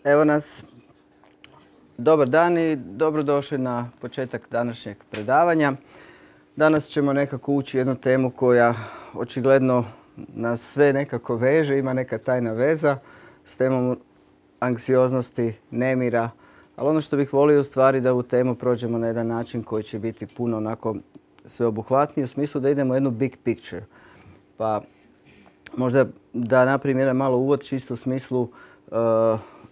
Evo nas. Dobar dan i dobrodošli na početak današnjeg predavanja. Danas ćemo nekako ući jednu temu koja očigledno nas sve nekako veže, ima neka tajna veza s temom anksioznosti, nemira. Ali ono što bih volio u stvari da ovu temu prođemo na jedan način koji će biti puno onako sveobuhvatniji u smislu da idemo u jednu big picture. Pa možda da napravim jedan malo uvod čisto u smislu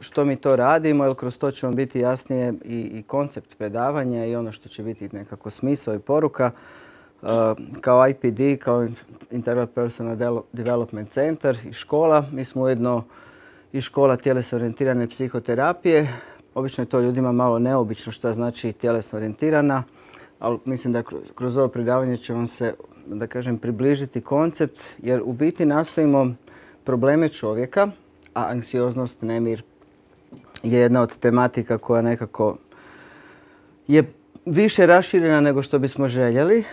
što mi to radimo, jer kroz to će vam biti jasnije i koncept predavanja i ono što će biti nekako smisao i poruka. Kao IPD, kao Integral Personal Development Center i škola, mi smo ujedno i škola tjelesno orijentirane psihoterapije. Obično je to ljudima malo neobično što znači tjelesno orijentirana, ali mislim da kroz ovo predavanje će vam se, da kažem, približiti koncept, jer u biti nastojimo probleme čovjeka, a anksioznost, nemir je jedna od tematika koja nekako je više raširena nego što bismo željeli.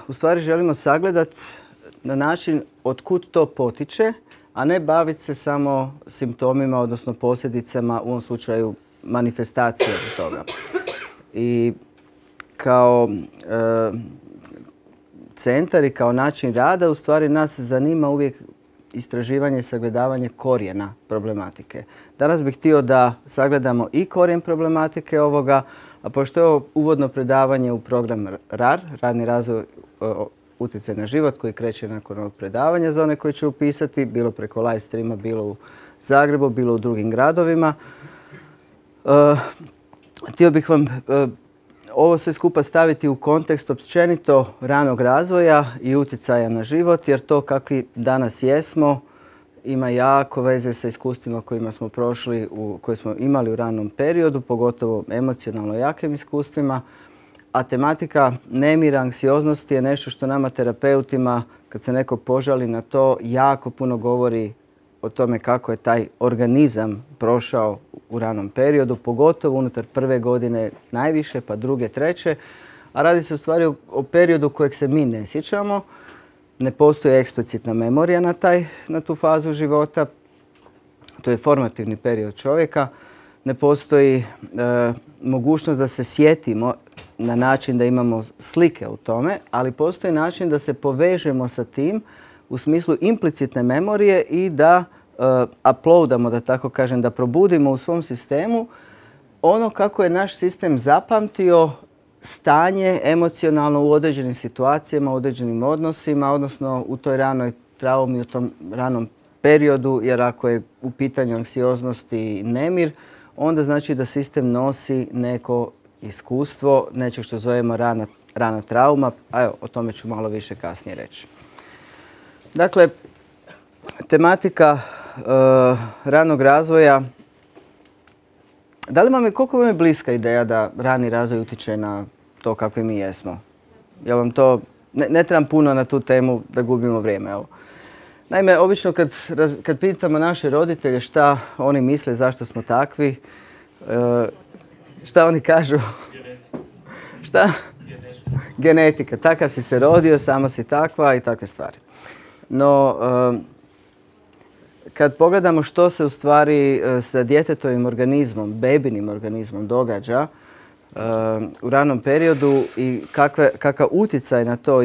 U stvari želimo sagledati na način od kud to potiče, a ne baviti se samo simptomima, odnosno posljedicama, u ovom slučaju manifestacije toga. I kao centar i kao način rada u stvari nas zanima uvijek istraživanje i sagledavanje korijena problematike. Danas bih htio da sagledamo i korijen problematike ovoga, a pošto je ovo uvodno predavanje u program RAR, Radni razvoj utjecaj na život, koji kreće nakon ovog predavanja za one koji će upisati, bilo preko live streama, bilo u Zagrebu, bilo u drugim gradovima. Htio bih vam ovo sve skupa staviti u kontekst općenito ranog razvoja i utjecaja na život, jer to kakvi danas jesmo ima jako veze sa iskustvima kojima smo prošli, koje smo imali u ranom periodu, pogotovo emocionalno jakim iskustvima. A tematika nemira, anksioznosti je nešto što nama terapeutima, kad se neko požali na to, jako puno govori o tome kako je taj organizam prošao u ranom periodu, pogotovo unutar prve godine najviše, pa druge, treće. A radi se u stvari o periodu kojeg se mi ne sjećamo. Ne postoji eksplicitna memorija na tu fazu života. To je formativni period čovjeka. Ne postoji mogućnost da se sjetimo na način da imamo slike u tome, ali postoji način da se povežemo sa tim u smislu implicitne memorije i da uploadamo, da tako kažem, da probudimo u svom sistemu ono kako je naš sistem zapamtio stanje emocionalno u određenim situacijama, u određenim odnosima, odnosno u toj ranoj traumi, u tom ranom periodu, jer ako je u pitanju anksioznost i nemir, onda znači da sistem nosi neko iskustvo, nečeg što zovemo rana trauma, a evo, o tome ću malo više kasnije reći. Dakle, tematika ranog razvoja. Koliko vam je bliska ideja da rani razvoj utječe na to kakvi mi jesmo? Jel vam to, ne trebam puno na tu temu da gubimo vrijeme. Evo. Naime, obično kad pitamo naše roditelje šta oni misle, zašto smo takvi, šta oni kažu? Šta? Genetika. Takav si se rodio, sama si takva i takve stvari. No, kad pogledamo što se u stvari sa djetetovim organizmom, bebinim organizmom događa u ranom periodu i kakav utjecaj na to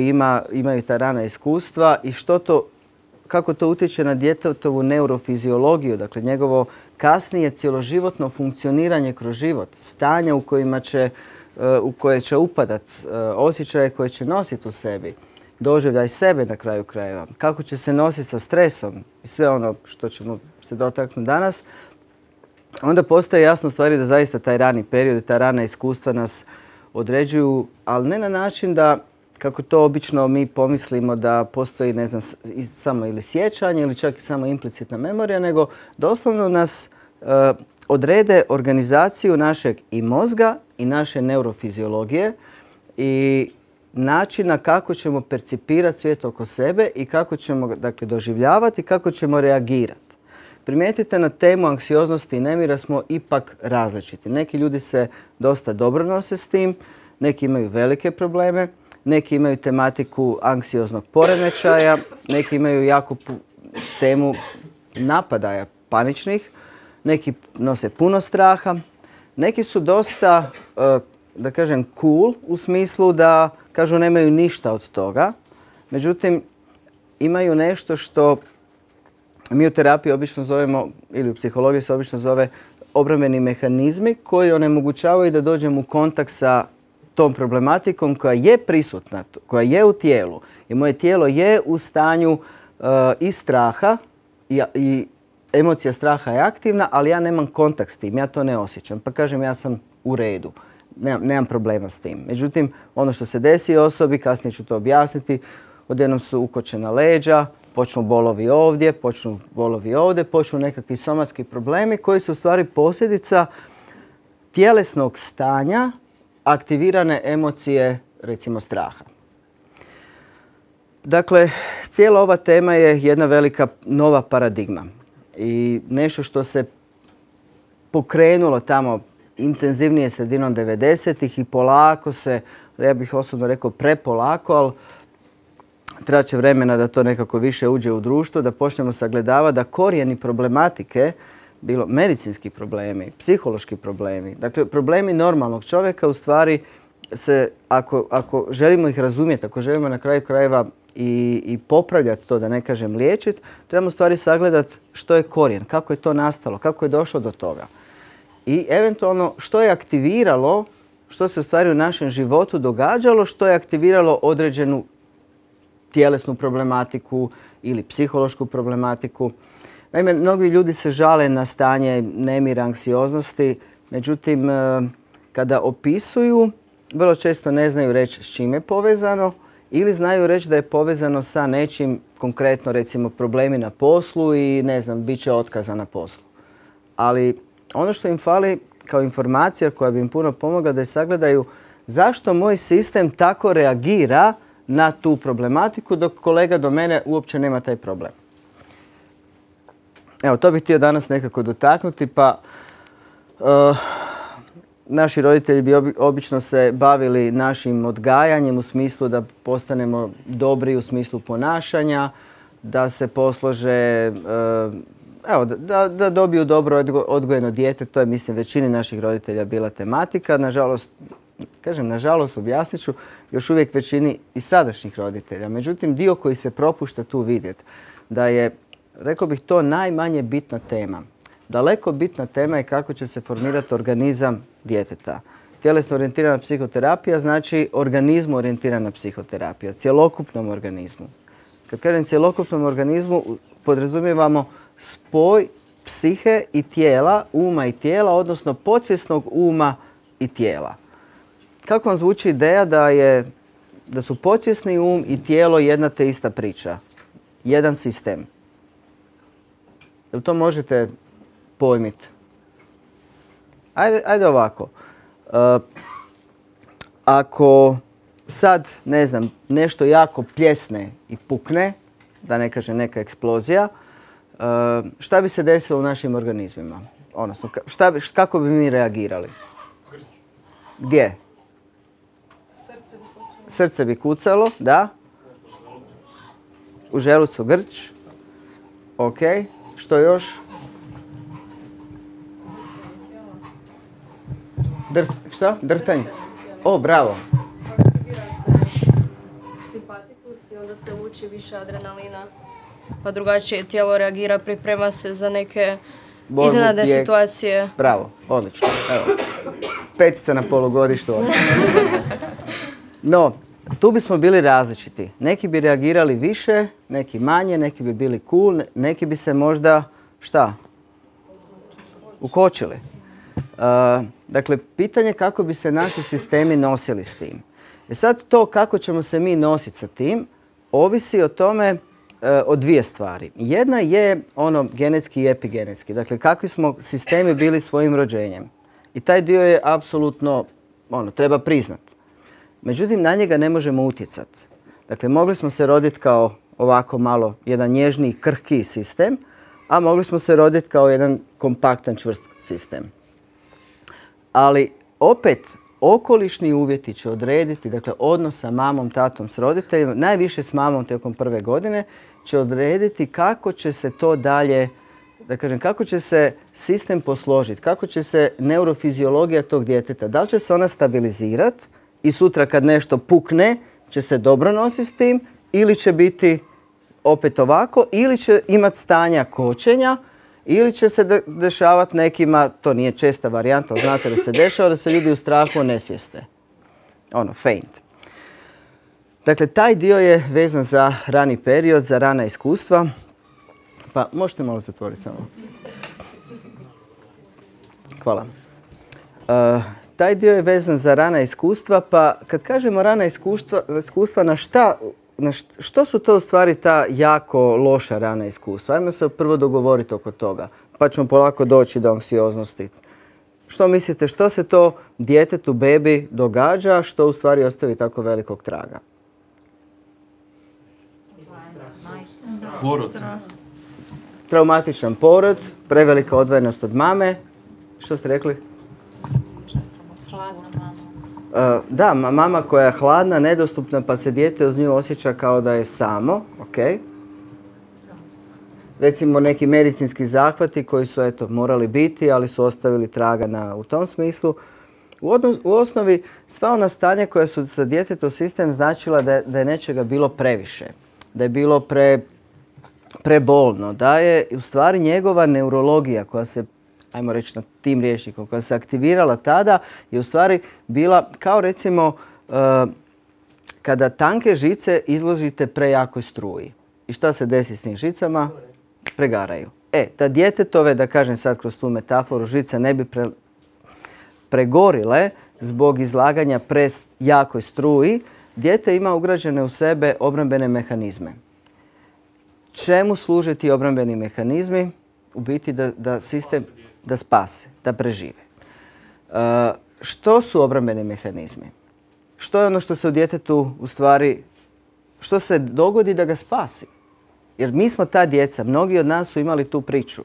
imaju ta rana iskustva i kako to utječe na djetetovu neurofiziologiju, dakle njegovo kasnije cjeloživotno funkcioniranje kroz život, stanja u koje će upadat, osjećaje koje će nositi u sebi, doživljaj sebe na kraju krajeva, kako će se nositi sa stresom i sve ono što ćemo se dotaknuti danas, onda postaje jasno stvari da zaista taj rani period i ta rana iskustva nas određuju, ali ne na način da, kako to obično mi pomislimo, da postoji, ne znam, samo ili sjećanje ili čak i samo implicitna memorija, nego doslovno nas odrede organizaciju našeg i mozga i naše neurofiziologije i načina kako ćemo percipirati svijet oko sebe i kako ćemo, dakle, doživljavati i kako ćemo reagirati. Primijetite, na temu anksioznosti i nemira smo ipak različiti. Neki ljudi se dosta dobro nose s tim, neki imaju velike probleme, neki imaju tematiku anksioznog poremećaja, neki imaju jako temu napadaja paničnih, neki nose puno straha, neki su dosta, da kažem, cool u smislu da kažu nemaju ništa od toga. Međutim, imaju nešto što mi u terapiji obično zovemo, ili u psihologiji se obično zove obrambeni mehanizmi koji onemogućavaju da dođemo u kontakt sa tom problematikom koja je prisutna, koja je u tijelu. I moje tijelo je u stanju i straha i emocija straha je aktivna, ali ja nemam kontakt s tim, ja to ne osjećam. Pa kažem, ja sam u redu, nemam problema s tim. Međutim, ono što se desi osobi, kasnije ću to objasniti, odjednom su ukočena leđa, počnu bolovi ovdje, počnu bolovi ovdje, počnu nekakvi somatski problemi koji su u stvari posljedica tjelesnog stanja aktivirane emocije, recimo straha. Dakle, cijela ova tema je jedna velika nova paradigma i nešto što se pokrenulo tamo intenzivnije sredinom 90-ih i polako se, ja bih osobno rekao prepolako, ali trebat će vremena da to nekako više uđe u društvo, da počnemo sagledavati da korijeni problematike, bilo medicinski problemi, psihološki problemi, dakle problemi normalnog čovjeka u stvari se, ako želimo ih razumjeti, ako želimo na kraju krajeva i popravljati to, da ne kažem liječiti, trebamo u stvari sagledati što je korijen, kako je to nastalo, kako je došlo do toga. I eventualno što je aktiviralo, što se u stvari u našem životu događalo, što je aktiviralo određenu tjelesnu problematiku ili psihološku problematiku. Naime, mnogi ljudi se žale na stanje nemira, anksioznosti, međutim, kada opisuju, vrlo često ne znaju reći s čim je povezano ili znaju reći da je povezano sa nečim, konkretno recimo problemi na poslu i ne znam, bit će otkaza na poslu. Ali ono što im fali kao informacija koja bi im puno pomogla da je sagledaju zašto moj sistem tako reagira na tu problematiku dok kolega do mene uopće nema taj problem. Evo, to bih htio danas nekako dotaknuti, pa naši roditelji bi obično se bavili našim odgajanjem u smislu da postanemo dobri u smislu ponašanja, da se poslože, evo, da dobiju dobro odgojeno dijete. To je, mislim, većini naših roditelja bila tematika. Nažalost, objasnit ću, još uvijek većini i sadašnjih roditelja. Međutim, dio koji se propušta tu vidjeti da je, rekao bih, to najmanje bitna tema. Daleko bitna tema je kako će se formirati organizam djeteta. Tjelesno orijentirana psihoterapija znači organizmu orijentirana psihoterapija, cjelokupnom organizmu. Kad kažem cjelokupnom organizmu, podrazumijevamo spoj psihe i tijela, uma i tijela, odnosno podsvjesnog uma i tijela. Kako vam zvuči ideja da su podsvjesni um i tijelo jedna te ista priča, jedan sistem? Jel to možete pojmiti? Ajde ovako. Ako sad, ne znam, nešto jako pljesne i pukne, da ne kažem neka eksplozija, šta bi se desilo u našim organizmima? Odnosno, kako bi mi reagirali? Gdje? Srce bi kucalo, da. U želucu grč. Ok. Što još? Šta? Drhtanje. O, bravo. Simpatikus i onda se luči više adrenalina. Pa drugačije tijelo reagira, priprema se za neke iznenadne situacije. Bravo, odlično. Evo, 5 na polugodištu. No, tu bismo bili različiti. Neki bi reagirali više, neki manje, neki bi bili cool, neki bi se možda, šta? Ukočili. Dakle, pitanje kako bi se naši sistemi nosili s tim. Sad to kako ćemo se mi nositi sa tim, ovisi o tome o dvije stvari. Jedna je ono genetski i epigenetski. Dakle, kakvi smo sistemi bili svojim rođenjem. I taj dio je apsolutno, treba priznat. Međutim, na njega ne možemo utjecati. Dakle, mogli smo se roditi kao ovako malo jedan nježniji, krhkiji sistem, a mogli smo se roditi kao jedan kompaktan, čvrst sistem. Ali opet, okolišni uvjeti će odrediti, dakle, odnos sa mamom, tatom, s roditeljima, najviše s mamom tijekom prve godine, će odrediti kako će se to dalje da kažem, kako će se sistem posložiti, kako će se neurofiziologija tog djeteta, da li će se ona stabilizirati i sutra kad nešto pukne će se dobro nositi s tim ili će biti opet ovako, ili će imati stanja kočenja, ili će se dešavati nekima, to nije česta varijanta, ali znate da se dešava, da se ljudi u strahu onesvijeste. Faint. Dakle, taj dio je vezan za rani period, za rana iskustva. Pa možete malo zatvoriti samo. Hvala. Taj dio je vezan za rana iskustva, pa kad kažemo rana iskustva što su to u stvari ta jako loša rana iskustva? Ajmo se prvo dogovoriti oko toga, pa ćemo polako doći do anksioznosti. Što mislite, što se to djetetu, bebi događa, što u stvari ostavi tako velikog traga? Porod. Traumatičan porod, prevelika odvojenost od mame. Što ste rekli? Hladna mama. Da, mama koja je hladna, nedostupna, pa se dijete uz nju osjeća kao da je samo. Okay. Recimo neki medicinski zahvati koji su morali biti, ali su ostavili traga u tom smislu. U osnovi sva ona stanja koja su za djetetov sistem značila da je nečega bilo previše, da je bilo prebolno, da je u stvari njegova neurologija koja se, ajmo reći na tim rječnikom, koja se aktivirala tada, je u stvari bila kao recimo kada tanke žice izložite prejakoj struji. I šta se desi s tim žicama? Pregaraju. Da djetetove, da kažem sad kroz tu metaforu, žice ne bi pregorile zbog izlaganja prejakoj struji, dijete ima ugrađene u sebe obrambene mehanizme. Čemu služe ti obrambeni mehanizmi? U biti da sistem da spase, da prežive. Što su obrambeni mehanizmi? Što je ono što se u djetetu u stvari, što se dogodi da ga spasi? Jer mi smo ta djeca, mnogi od nas su imali tu priču.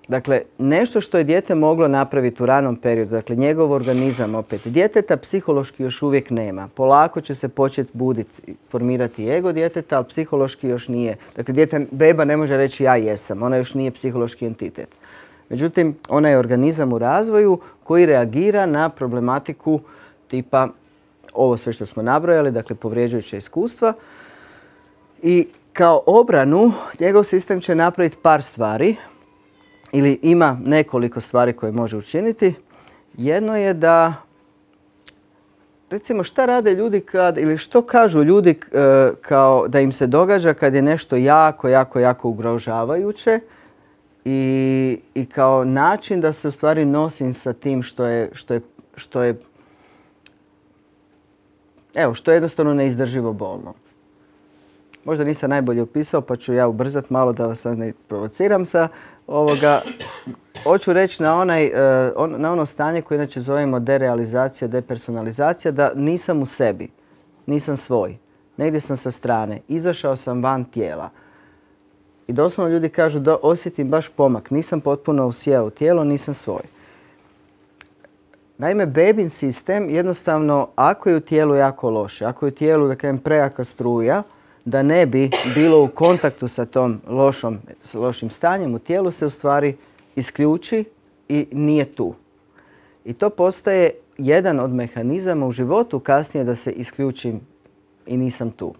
Dakle, nešto što je dijete moglo napraviti u ranom periodu, dakle njegov organizam opet, djeteta psihološki još uvijek nema. Polako će se početi buditi, formirati ego djeteta, ali psihološki još nije. Dakle, beba ne može reći ja jesam, ona još nije psihološki entitet. Međutim, ona je organizam u razvoju koji reagira na problematiku tipa ovo sve što smo nabrojali, dakle povrijeđujuća iskustva. I kao obranu njegov sistem će napraviti par stvari ili ima nekoliko stvari koje može učiniti. Jedno je da, recimo šta rade ljudi ili što kažu ljudi kao da im se događa kad je nešto jako ugrožavajuće i kao način da se u stvari nosim sa tim što je jednostavno neizdrživo bolno. Možda nisam najbolje opisao, pa ću ja ubrzati malo da vas ne provociram sa ovoga. Hoću reći na ono stanje koje inače zovemo derealizacija, depersonalizacija, da nisam u sebi, nisam svoj. Negdje sam sa strane, izašao sam van tijela. I doslovno ljudi kažu da osjetim baš pomak, nisam potpuno usijao u tijelo, nisam svoj. Naime, bebin sistem jednostavno, ako je u tijelu jako loše, ako je u tijelu, da kažem, prejaka struja, da ne bi bilo u kontaktu sa tom lošim stanjem u tijelu, se u stvari isključi i nije tu. I to postaje jedan od mehanizama u životu kasnije da se isključim i nisam tu.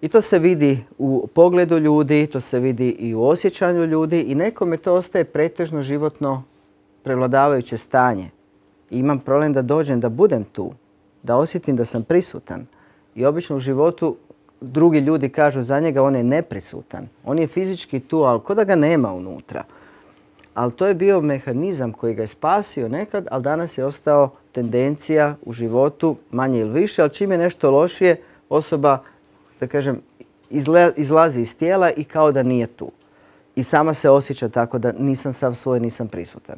I to se vidi u pogledu ljudi, to se vidi i u osjećanju ljudi i nekome to ostaje pretežno životno prevladavajuće stanje. I imam problem da dođem, da budem tu, da osjetim da sam prisutan. I obično u životu drugi ljudi kažu za njega on je neprisutan. On je fizički tu, ali ko da ga nema unutra. Ali to je bio mehanizam koji ga je spasio nekad, ali danas je ostao tendencija u životu, manje ili više, ali čim je nešto lošije, osoba, da kažem, izlazi iz tijela i kao da nije tu. I sama se osjeća tako da nisam sav svoj, nisam prisutan.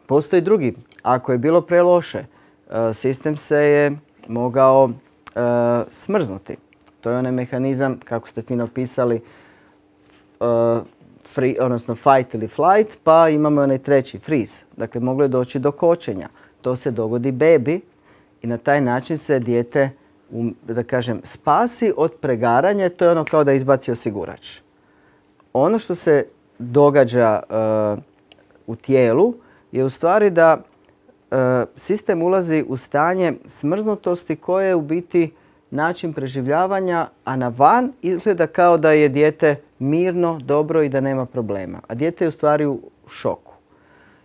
Postoji drugi. Ako je bilo preloše, sistem se je mogao smrznuti. To je onaj mehanizam, kako ste fino pisali, odnosno fight ili flight, pa imamo onaj treći, freeze. Dakle, moglo je doći do kočenja. To se dogodi bebi i na taj način se dijete, da kažem, spasi od pregaranja. To je ono kao da izbaci osigurač. ono što se događa u tijelu je u stvari da sistem ulazi u stanje smrznutosti koje je u biti način preživljavanja, a na van izgleda kao da je dijete mirno, dobro i da nema problema. A dijete je u stvari u šoku.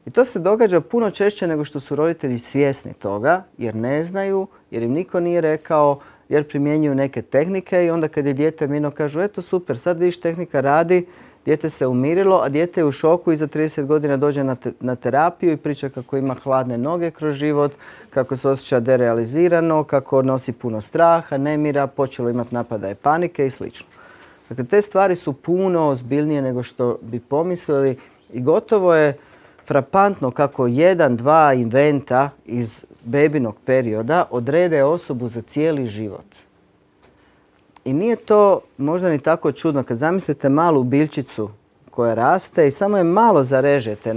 I to se događa puno češće nego što su roditelji svjesni toga, jer ne znaju, jer im niko nije rekao, jer primjenjuju neke tehnike i onda kad je dijete mirno kažu eto super, sad vidiš tehnika radi, dijete se umirilo, a dijete je u šoku i za 30 godina dođe na terapiju i priča kako ima hladne noge kroz život, kako se osjeća derealizirano, kako nosi puno straha, nemira, počelo imati napadaje panike i sl. Dakle, te stvari su puno ozbiljnije nego što bi pomislili i gotovo je frapantno kako 1-2 inventa iz bebinog perioda odrede osobu za cijeli život. I nije to možda ni tako čudno kad zamislite malu biljčicu koja raste i samo je malo zarežete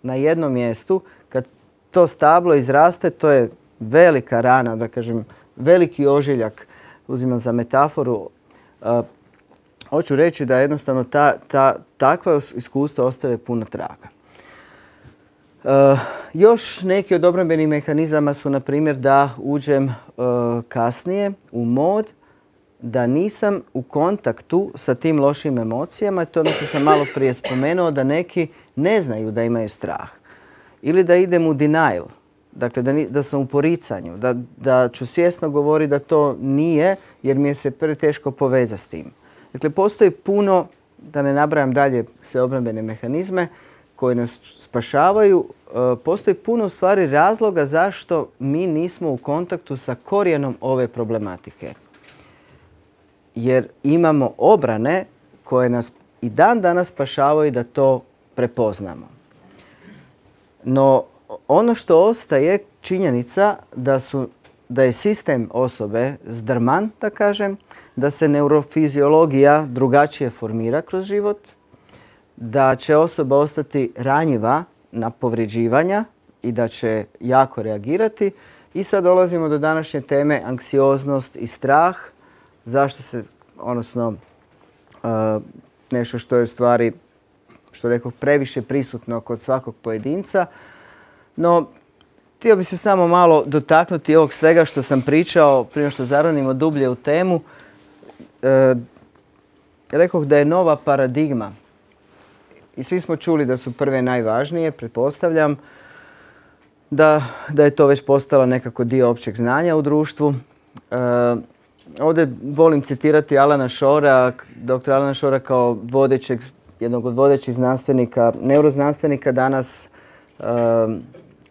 na jednom mjestu. Kad to stablo izraste, to je velika rana, da kažem, veliki ožiljak, uzimam za metaforu. Hoću reći da jednostavno takva iskustva ostave puno traga. Još neki od obrambenih mehanizama su, na primjer, da uđem kasnije u mod, da nisam u kontaktu sa tim lošim emocijama. To je ono što sam malo prije spomenuo, da neki ne znaju da imaju strah. Ili da idem u denial, dakle da sam u poricanju, da ću svjesno govoriti da to nije jer mi je se preteško povezati s tim. Dakle, postoji puno, da ne nabrajam dalje sve obrambene mehanizme koji nas spašavaju, postoji puno stvari razloga zašto mi nismo u kontaktu sa korijenom ove problematike. Jer imamo obrane koje nas i dan danas spašavaju da to prepoznamo. No, ono što ostaje činjenica da je sistem osobe zdrman, da kažem, da se neurofiziologija drugačije formira kroz život, da će osoba ostati ranjiva na povređivanja i da će jako reagirati. I sad dolazimo do današnje teme anksioznost i strah. Zašto se, odnosno nešto što je u stvari, što rekoh, previše prisutno kod svakog pojedinca. No, htio bih se samo malo dotaknuti ovog svega što sam pričao prije što zaronimo dublje u temu. Rekoh da je nova paradigma i svi smo čuli da su prve najvažnije, pretpostavljam, da je to već postalo nekako dio općeg znanja u društvu. Ovdje volim citirati Alana Shora, dr. Alana Shora kao jednog od vodećih znanstvenika, neuroznanstvenika danas,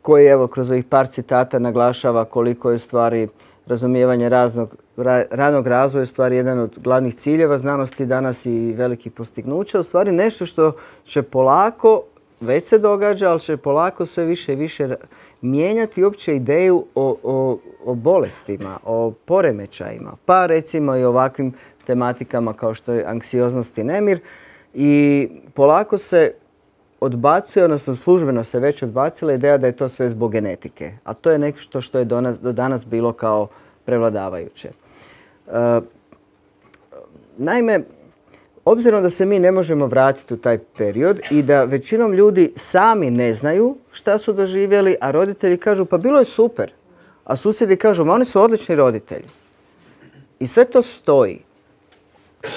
koji evo kroz ovih par citata naglašava koliko je u stvari razumijevanje ranog razvoja u stvari jedan od glavnih ciljeva znanosti danas i velikih postignuća. U stvari nešto što će polako, već se događa, ali će polako sve više i više mijenjati uopće ideju o bolestima, o poremećajima. Pa recimo i ovakvim tematikama kao što je anksioznost i nemir. I polako se odbacuje, odnosno službeno se već odbacila ideja da je to sve zbog genetike. A to je nešto što je do danas bilo kao prevladavajuće. Naime, obzirom da se mi ne možemo vratiti u taj period i da većinom ljudi sami ne znaju šta su doživjeli, a roditelji kažu pa bilo je super, a susjedi kažu ma oni su odlični roditelji. I sve to stoji.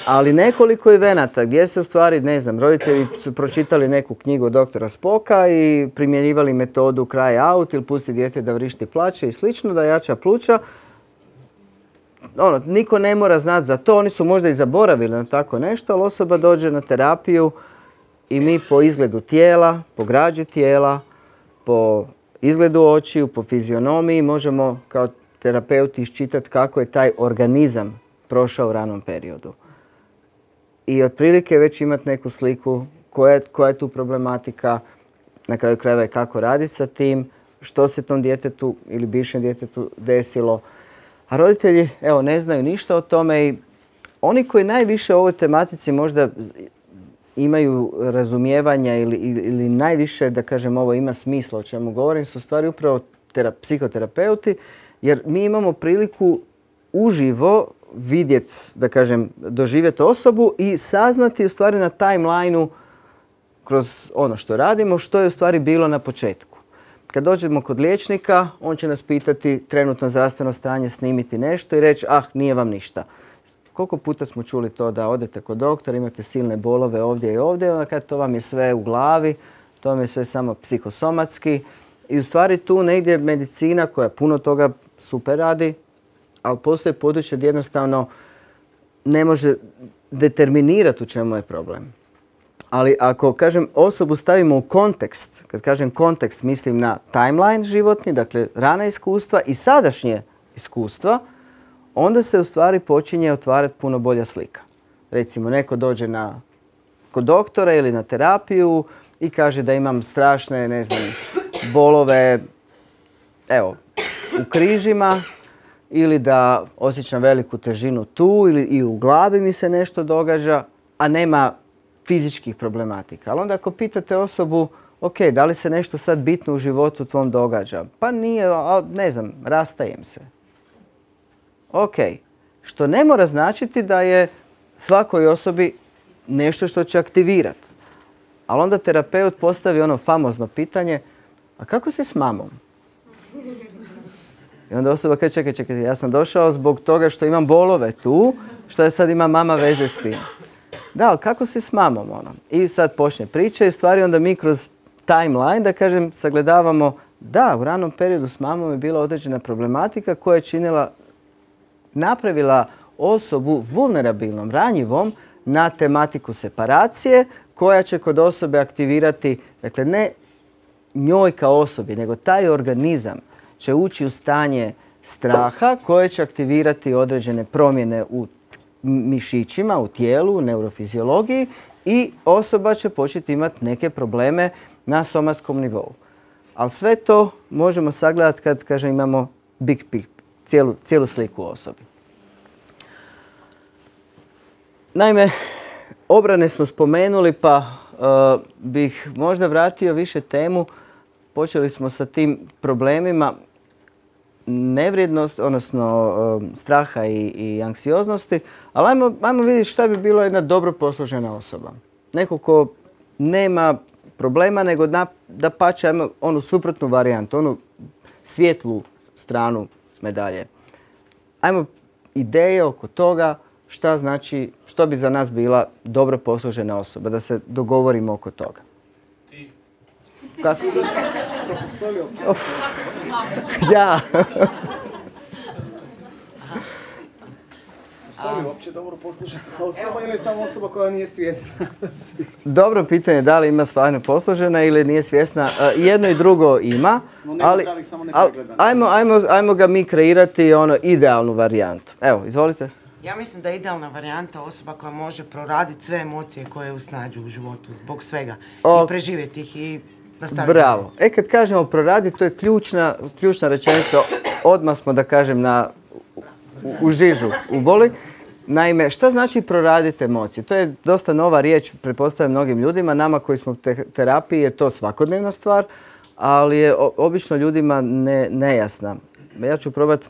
Ali nekoliko evenata gdje se u stvari, ne znam, roditelji su pročitali neku knjigu doktora Spoka i primjenjivali metodu cry out ili pusti dijete da vrišti, plače i slično, da jača pluća. Niko ne mora znati za to, oni su možda i zaboravili na tako nešto, ali osoba dođe na terapiju i mi po izgledu tijela, po građi tijela, po izgledu očiju, po fizionomiji možemo kao terapeuti iščitati kako je taj organizam prošao u ranom periodu. I otprilike već imati neku sliku koja je tu problematika, na kraju krajeva i kako raditi sa tim, što se tom djetetu ili bivšem djetetu desilo. A roditelji ne znaju ništa o tome i oni koji najviše o ovoj tematici možda imaju razumijevanja ili najviše, da kažem, ovo ima smisla o čemu govorim, su stvari upravo psihoterapeuti, jer mi imamo priliku uživo vidjeti, da kažem, doživjeti osobu i saznati u stvari na timelineu kroz ono što radimo, što je u stvari bilo na početku. Kad dođemo kod liječnika, on će nas pitati trenutno zdravstveno stanje, snimiti nešto i reći, nije vam ništa. Koliko puta smo čuli to da odete kod doktora, imate silne bolove ovdje i ovdje, onda kad to vam je sve u glavi, to vam je sve samo psihosomatski. I u stvari tu negdje medicina koja puno toga super radi, ali postoje područje gdje jednostavno ne može determinirati u čemu je problem. Ali ako, kažem, osobu stavimo u kontekst, kad kažem kontekst, mislim na timeline životni, dakle rana iskustva i sadašnje iskustva, onda se u stvari počinje otvarati puno bolja slika. Recimo, neko dođe kod doktora ili na terapiju i kaže da imam strašne, ne znam, bolove, evo, u križima, ili da osjećam veliku težinu tu ili u glavi mi se nešto događa, a nema fizičkih problematika. Ali onda ako pitate osobu, ok, da li se nešto sad bitno u životu tvom događa? Pa nije, ne znam, rastajem se. Ok, što ne mora značiti da je svakoj osobi nešto što će aktivirati. Ali onda terapeut postavi ono famozno pitanje, a kako si s mamom? I onda osoba kaže, čekaj, ja sam došao zbog toga što imam bolove tu, što je sad ima mama veze s tim. Da, ali kako si s mamom? I sad počne priča i stvari onda mi kroz timeline, da kažem, sagledavamo, da, u ranom periodu s mamom je bila određena problematika koja je napravila osobu vulnerabilnom, ranjivom na tematiku separacije koja će kod osobe aktivirati, dakle ne njoj kao osobi, nego taj organizam će ući u stanje straha koje će aktivirati određene promjene u mišićima, u tijelu, u neurofiziologiji i osoba će početi imati neke probleme na somatskom nivou. Ali sve to možemo sagledati kad, kažem, imamo big picture, cijelu sliku o osobi. Naime, obrane smo spomenuli, pa bih možda vratio više temu. Počeli smo sa tim problemima nevrijednost, odnosno straha i anksioznosti, ali ajmo vidjeti šta bi bilo jedna dobro posložena osoba. Neko ko nema problema, nego dapače onu suprotnu varijantu, onu svijetlu stranu medalje. Ajmo ideje oko toga šta znači, što bi za nas bila dobro posložena osoba, da se dogovorimo oko toga. Ti. Kako? Ja. Postoji uopće dobro poslužena osoba ili samo osoba koja nije svjesna? Dobro pitanje, da li ima stvarno poslužena ili nije svjesna. Jedno i drugo ima, ali ajmo ga mi kreirati idealnu varijantu. Evo, izvolite. Ja mislim da je idealna varijanta osoba koja može proraditi sve emocije koje usnađu u životu zbog svega i preživjeti ih i nastaviti. Bravo. Kad kažemo proraditi, to je ključna rečenica. Odmah smo, da kažem, u žižu, u boli. Naime, šta znači proraditi emocije? To je dosta nova riječ, pretpostavljam mnogim ljudima. Nama koji smo u terapiji je to svakodnevna stvar, ali je obično ljudima nejasna. Ja ću probati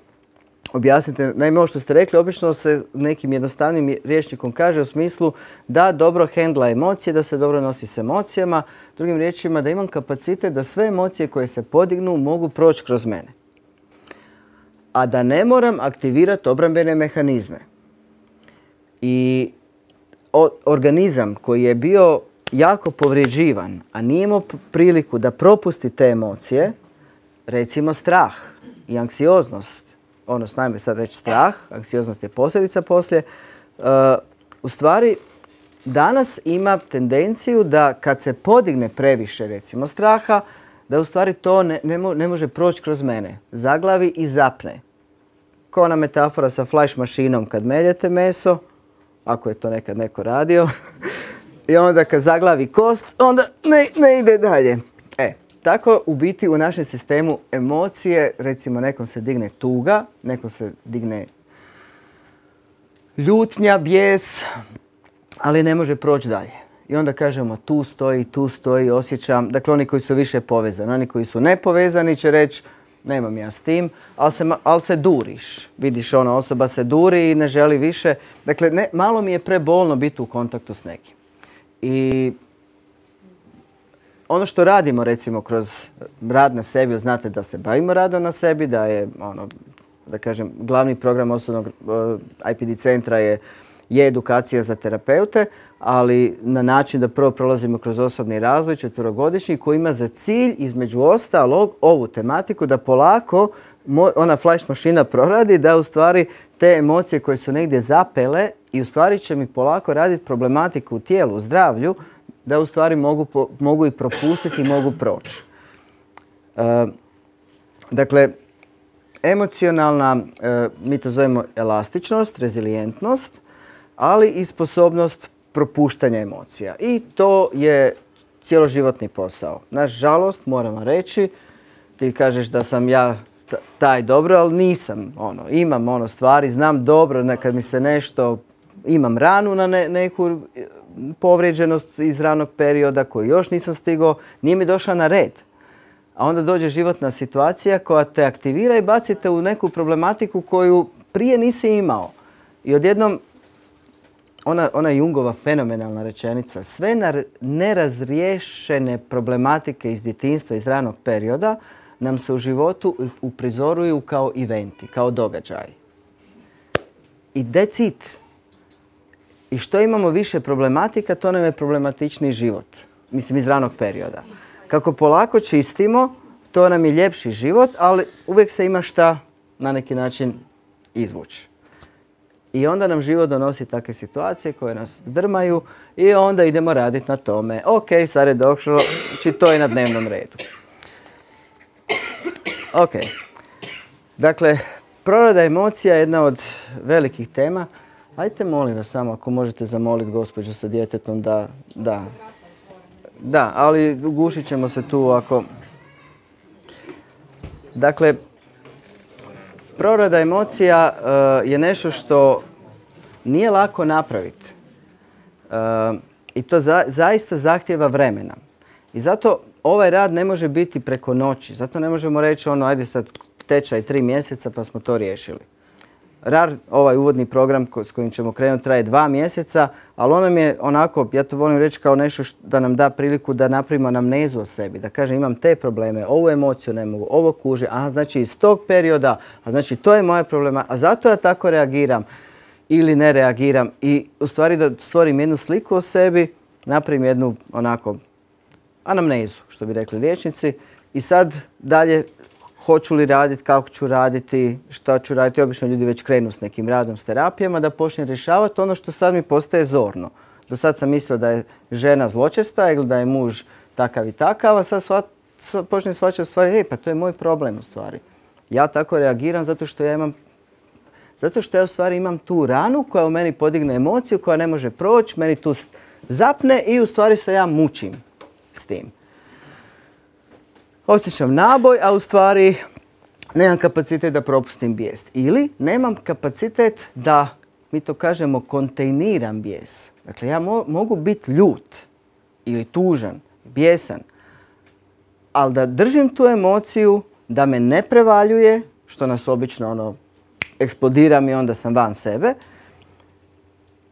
objasniti. Naime, ovo što ste rekli, obično se nekim jednostavnim rječnikom kaže u smislu da dobro hendla emocije, da se dobro nosi s emocijama. Drugim riječima, da imam kapacitet da sve emocije koje se podignu mogu proći kroz mene. A da ne moram aktivirati obrambene mehanizme. I organizam koji je bio jako povrijeđivan, a nije imao priliku da propusti te emocije, recimo strah i anksioznost, odnosno, najme sad reći strah, anksioznost je posljedica poslije, u stvari danas ima tendenciju da kad se podigne previše, recimo, straha, da u stvari to ne može proći kroz mene. Zaglavi i zapne. Kao ona metafora sa flash mašinom kad meljete meso, ako je to nekad neko radio, i onda kad zaglavi kost, onda ne ide dalje. Tako u biti u našem sistemu emocije, recimo nekom se digne tuga, nekom se digne ljutnja, bijes, ali ne može proći dalje. I onda kažemo tu stoji, osjećam. Dakle, oni koji su više povezani. Oni koji su nepovezani će reći nemam ja s tim, ali se duriš. Vidiš, ona osoba se duri i ne želi više. Dakle, malo mi je prebolno biti u kontaktu s nekim. I ono što radimo, recimo, kroz rad na sebi, znate da se bavimo radom na sebi, da je, da kažem, glavni program osobnog IPD centra je edukacija za terapeute, ali na način da prvo prolazimo kroz osobni razvoj 4-godišnji koji ima za cilj, između ostalog, ovu tematiku da polako ona flash mašina proradi, da u stvari te emocije koje su negdje zapele i u stvari će mi polako raditi problematiku u tijelu, u zdravlju, da u stvari mogu i propustiti i mogu proći. Dakle, emocionalna, mi to zovemo elastičnost, rezilijentnost, ali i sposobnost propuštanja emocija. I to je cjeloživotni posao. Nažalost, moram vam reći, ti kažeš da sam ja taj dobro, ali nisam. Imam stvari, znam dobro kad mi se nešto, imam ranu na neku povrijeđenost iz ranog perioda koju još nisam stigao, nije mi došla na red. A onda dođe životna situacija koja te aktivira i bacite u neku problematiku koju prije nisi imao. I odjednom, ona Jungova fenomenalna rečenica, sve nerazriješene problematike iz djetinjstva, iz ranog perioda, nam se u životu uprizoruju kao eventi, kao događaji. I that's it. I što imamo više problematika, to nam je problematičniji život. Mislim, iz ranog perioda. Kako polako čistimo, to nam je ljepši život, ali uvijek se ima šta na neki način izvući. I onda nam život donosi takve situacije koje nas zdrmaju i onda idemo raditi na tome. Ok, sad je došlo, znači to je na dnevnom redu. Ok. Dakle, prorada emocija je jedna od velikih tema. Ajte, molim vas samo, ako možete zamoliti gospođu sa djetetom da... Da, ali ugušit ćemo se tu ako... Dakle, prorada emocija je nešto što nije lako napraviti. I to zaista zahtjeva vremena. I zato ovaj rad ne može biti preko noći. Zato ne možemo reći ajde sad tečaj 3 mjeseca pa smo to riješili. RAR, ovaj uvodni program s kojim ćemo krenuti, traje 2 mjeseca, ali on nam je onako, ja to volim reći kao nešto da nam da priliku da napravimo anamnezu o sebi. Da kažem imam te probleme, ovu emociju ne mogu, ovo kuže, znači iz tog perioda, znači to je moja problema, a zato ja tako reagiram ili ne reagiram. I u stvari da stvorim jednu sliku o sebi, napravim jednu onako anamnezu, što bi rekli liječnici, i sad dalje hoću li raditi, kako ću raditi, šta ću raditi. Obično ljudi već krenu s nekim radom, s terapijama, da počne rješavati ono što sad mi postaje zorno. Do sad sam mislio da je žena zločesta ili da je muž takav i takav, a sad počne shvaćati stvari, pa to je moj problem u stvari. Ja tako reagiram zato što ja u stvari imam tu ranu koja u meni podigne emociju, koja ne može proći, meni tu zapne i u stvari se ja mučim s tim. Osjećam naboj, a u stvari nemam kapacitet da propustim bijes. Ili nemam kapacitet da, mi to kažemo, kontejniram bijes. Dakle, ja mogu biti ljut ili tužan, bijesan, ali da držim tu emociju, da me ne prevaljuje, što nas obično eksplodira mi, onda sam van sebe.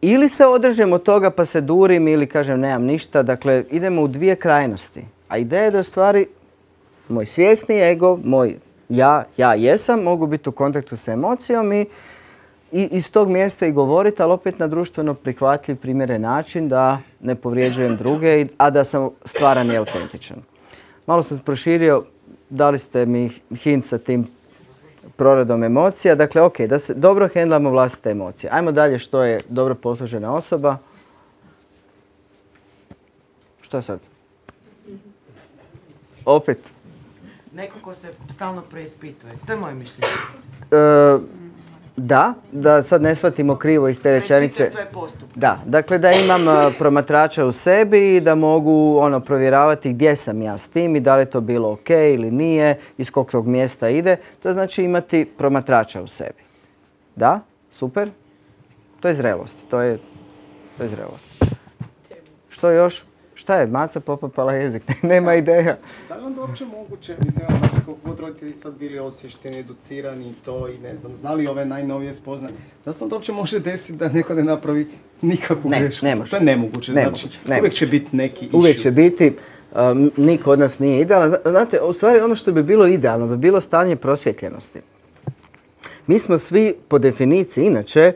Ili se održem od toga pa se durim ili kažem nemam ništa. Dakle, idemo u dvije krajnosti. A ideja je da u stvari moj svjesni ego, moj ja jesam, mogu biti u kontaktu sa emocijom i iz tog mjesta i govoriti, ali opet na društveno prihvatljiv, primjeren način da ne povrijeđujem druge, a da sam stvaran i autentičan. Malo sam proširio, dali ste mi hint sa tim proradom emocija. Dakle, ok, da se dobro hendlamo vlastite emocije. Ajmo dalje, što je dobro poslužena osoba. Što sad? Opet? Neko ko se stalno preispituje. To je moje mišljenje. Da sad ne shvatimo krivo iz te rečenice. Preispituje sve postupke. Da, dakle da imam promatrača u sebi i da mogu provjeravati gdje sam ja s tim i da li je to bilo ok ili nije, iz kog tog mjesta ide. To znači imati promatrača u sebi. Da, super. To je zrelost. To je zrelost. Što još? Šta je, maca popapala jezik, nema ideja. Da li onda uopće moguće, mislim, znači koliko god roditelji sad bili osvješteni, educirani i to i ne znam, znali ove najnovije spoznaje, da se onda uopće može desiti da neko ne napravi nikakvu grešku? Ne može. To je nemoguće, znači uvijek će biti neki issue. Uvijek će biti, niko od nas nije idealan. Znate, u stvari ono što bi bilo idealno bi bilo stanje prosvjetljenosti. Mi smo svi po definiciji inače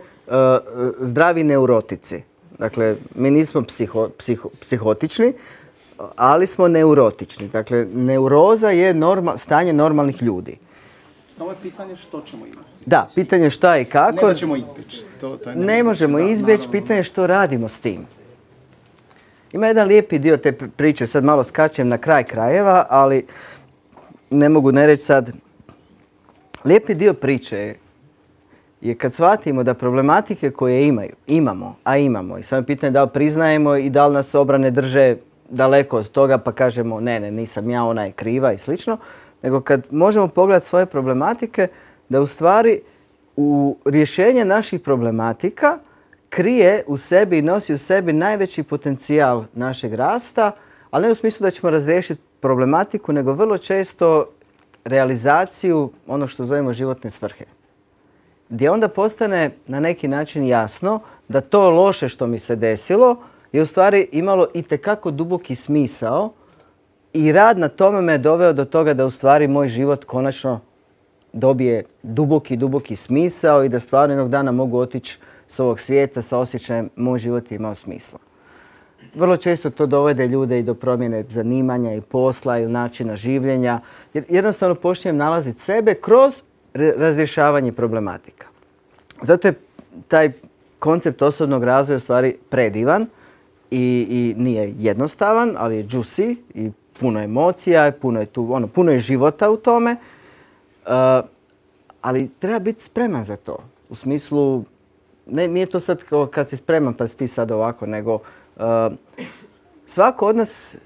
zdravi neurotici. Dakle, mi nismo psihotični, ali smo neurotični. Dakle, neuroza je stanje normalnih ljudi. Samo je pitanje što ćemo imati. Da, pitanje šta i kako. Ne da ćemo izbjeći. Ne možemo izbjeći, pitanje je što radimo s tim. Ima jedan lijepi dio te priče, sad malo skačem na kraj krajeva, ali ne mogu ne reći sad. Lijepi dio priče je kad shvatimo da problematike koje imamo, i samo je pitanje da li priznajemo i da li nas obrane drže daleko od toga pa kažemo ne, nisam ja, ona je kriva i slično, nego kad možemo pogledati svoje problematike, da u stvari u rješenje naših problematika krije u sebi i nosi u sebi najveći potencijal našeg rasta, ali ne u smislu da ćemo razriješiti problematiku, nego vrlo često realizaciju ono što zovemo životne svrhe. Gdje onda postane na neki način jasno da to loše što mi se desilo je u stvari imalo itekako duboki smisao i rad na tome me doveo do toga da u stvari moj život konačno dobije duboki smisao i da stvarno jednog dana mogu otići s ovog svijeta sa osjećajem moj život je imao smisla. Vrlo često to dovede ljude i do promjene zanimanja i posla ili načina življenja. Jer jednostavno počinjem nalaziti sebe kroz razrješavanje problematika. Zato je taj koncept osobnog razvoja u stvari predivan i nije jednostavan, ali je juicy i puno emocija, puno je života u tome. Ali treba biti spreman za to. U smislu, nije to sad kao kad si spreman pa si ti sad ovako, nego svako od nas,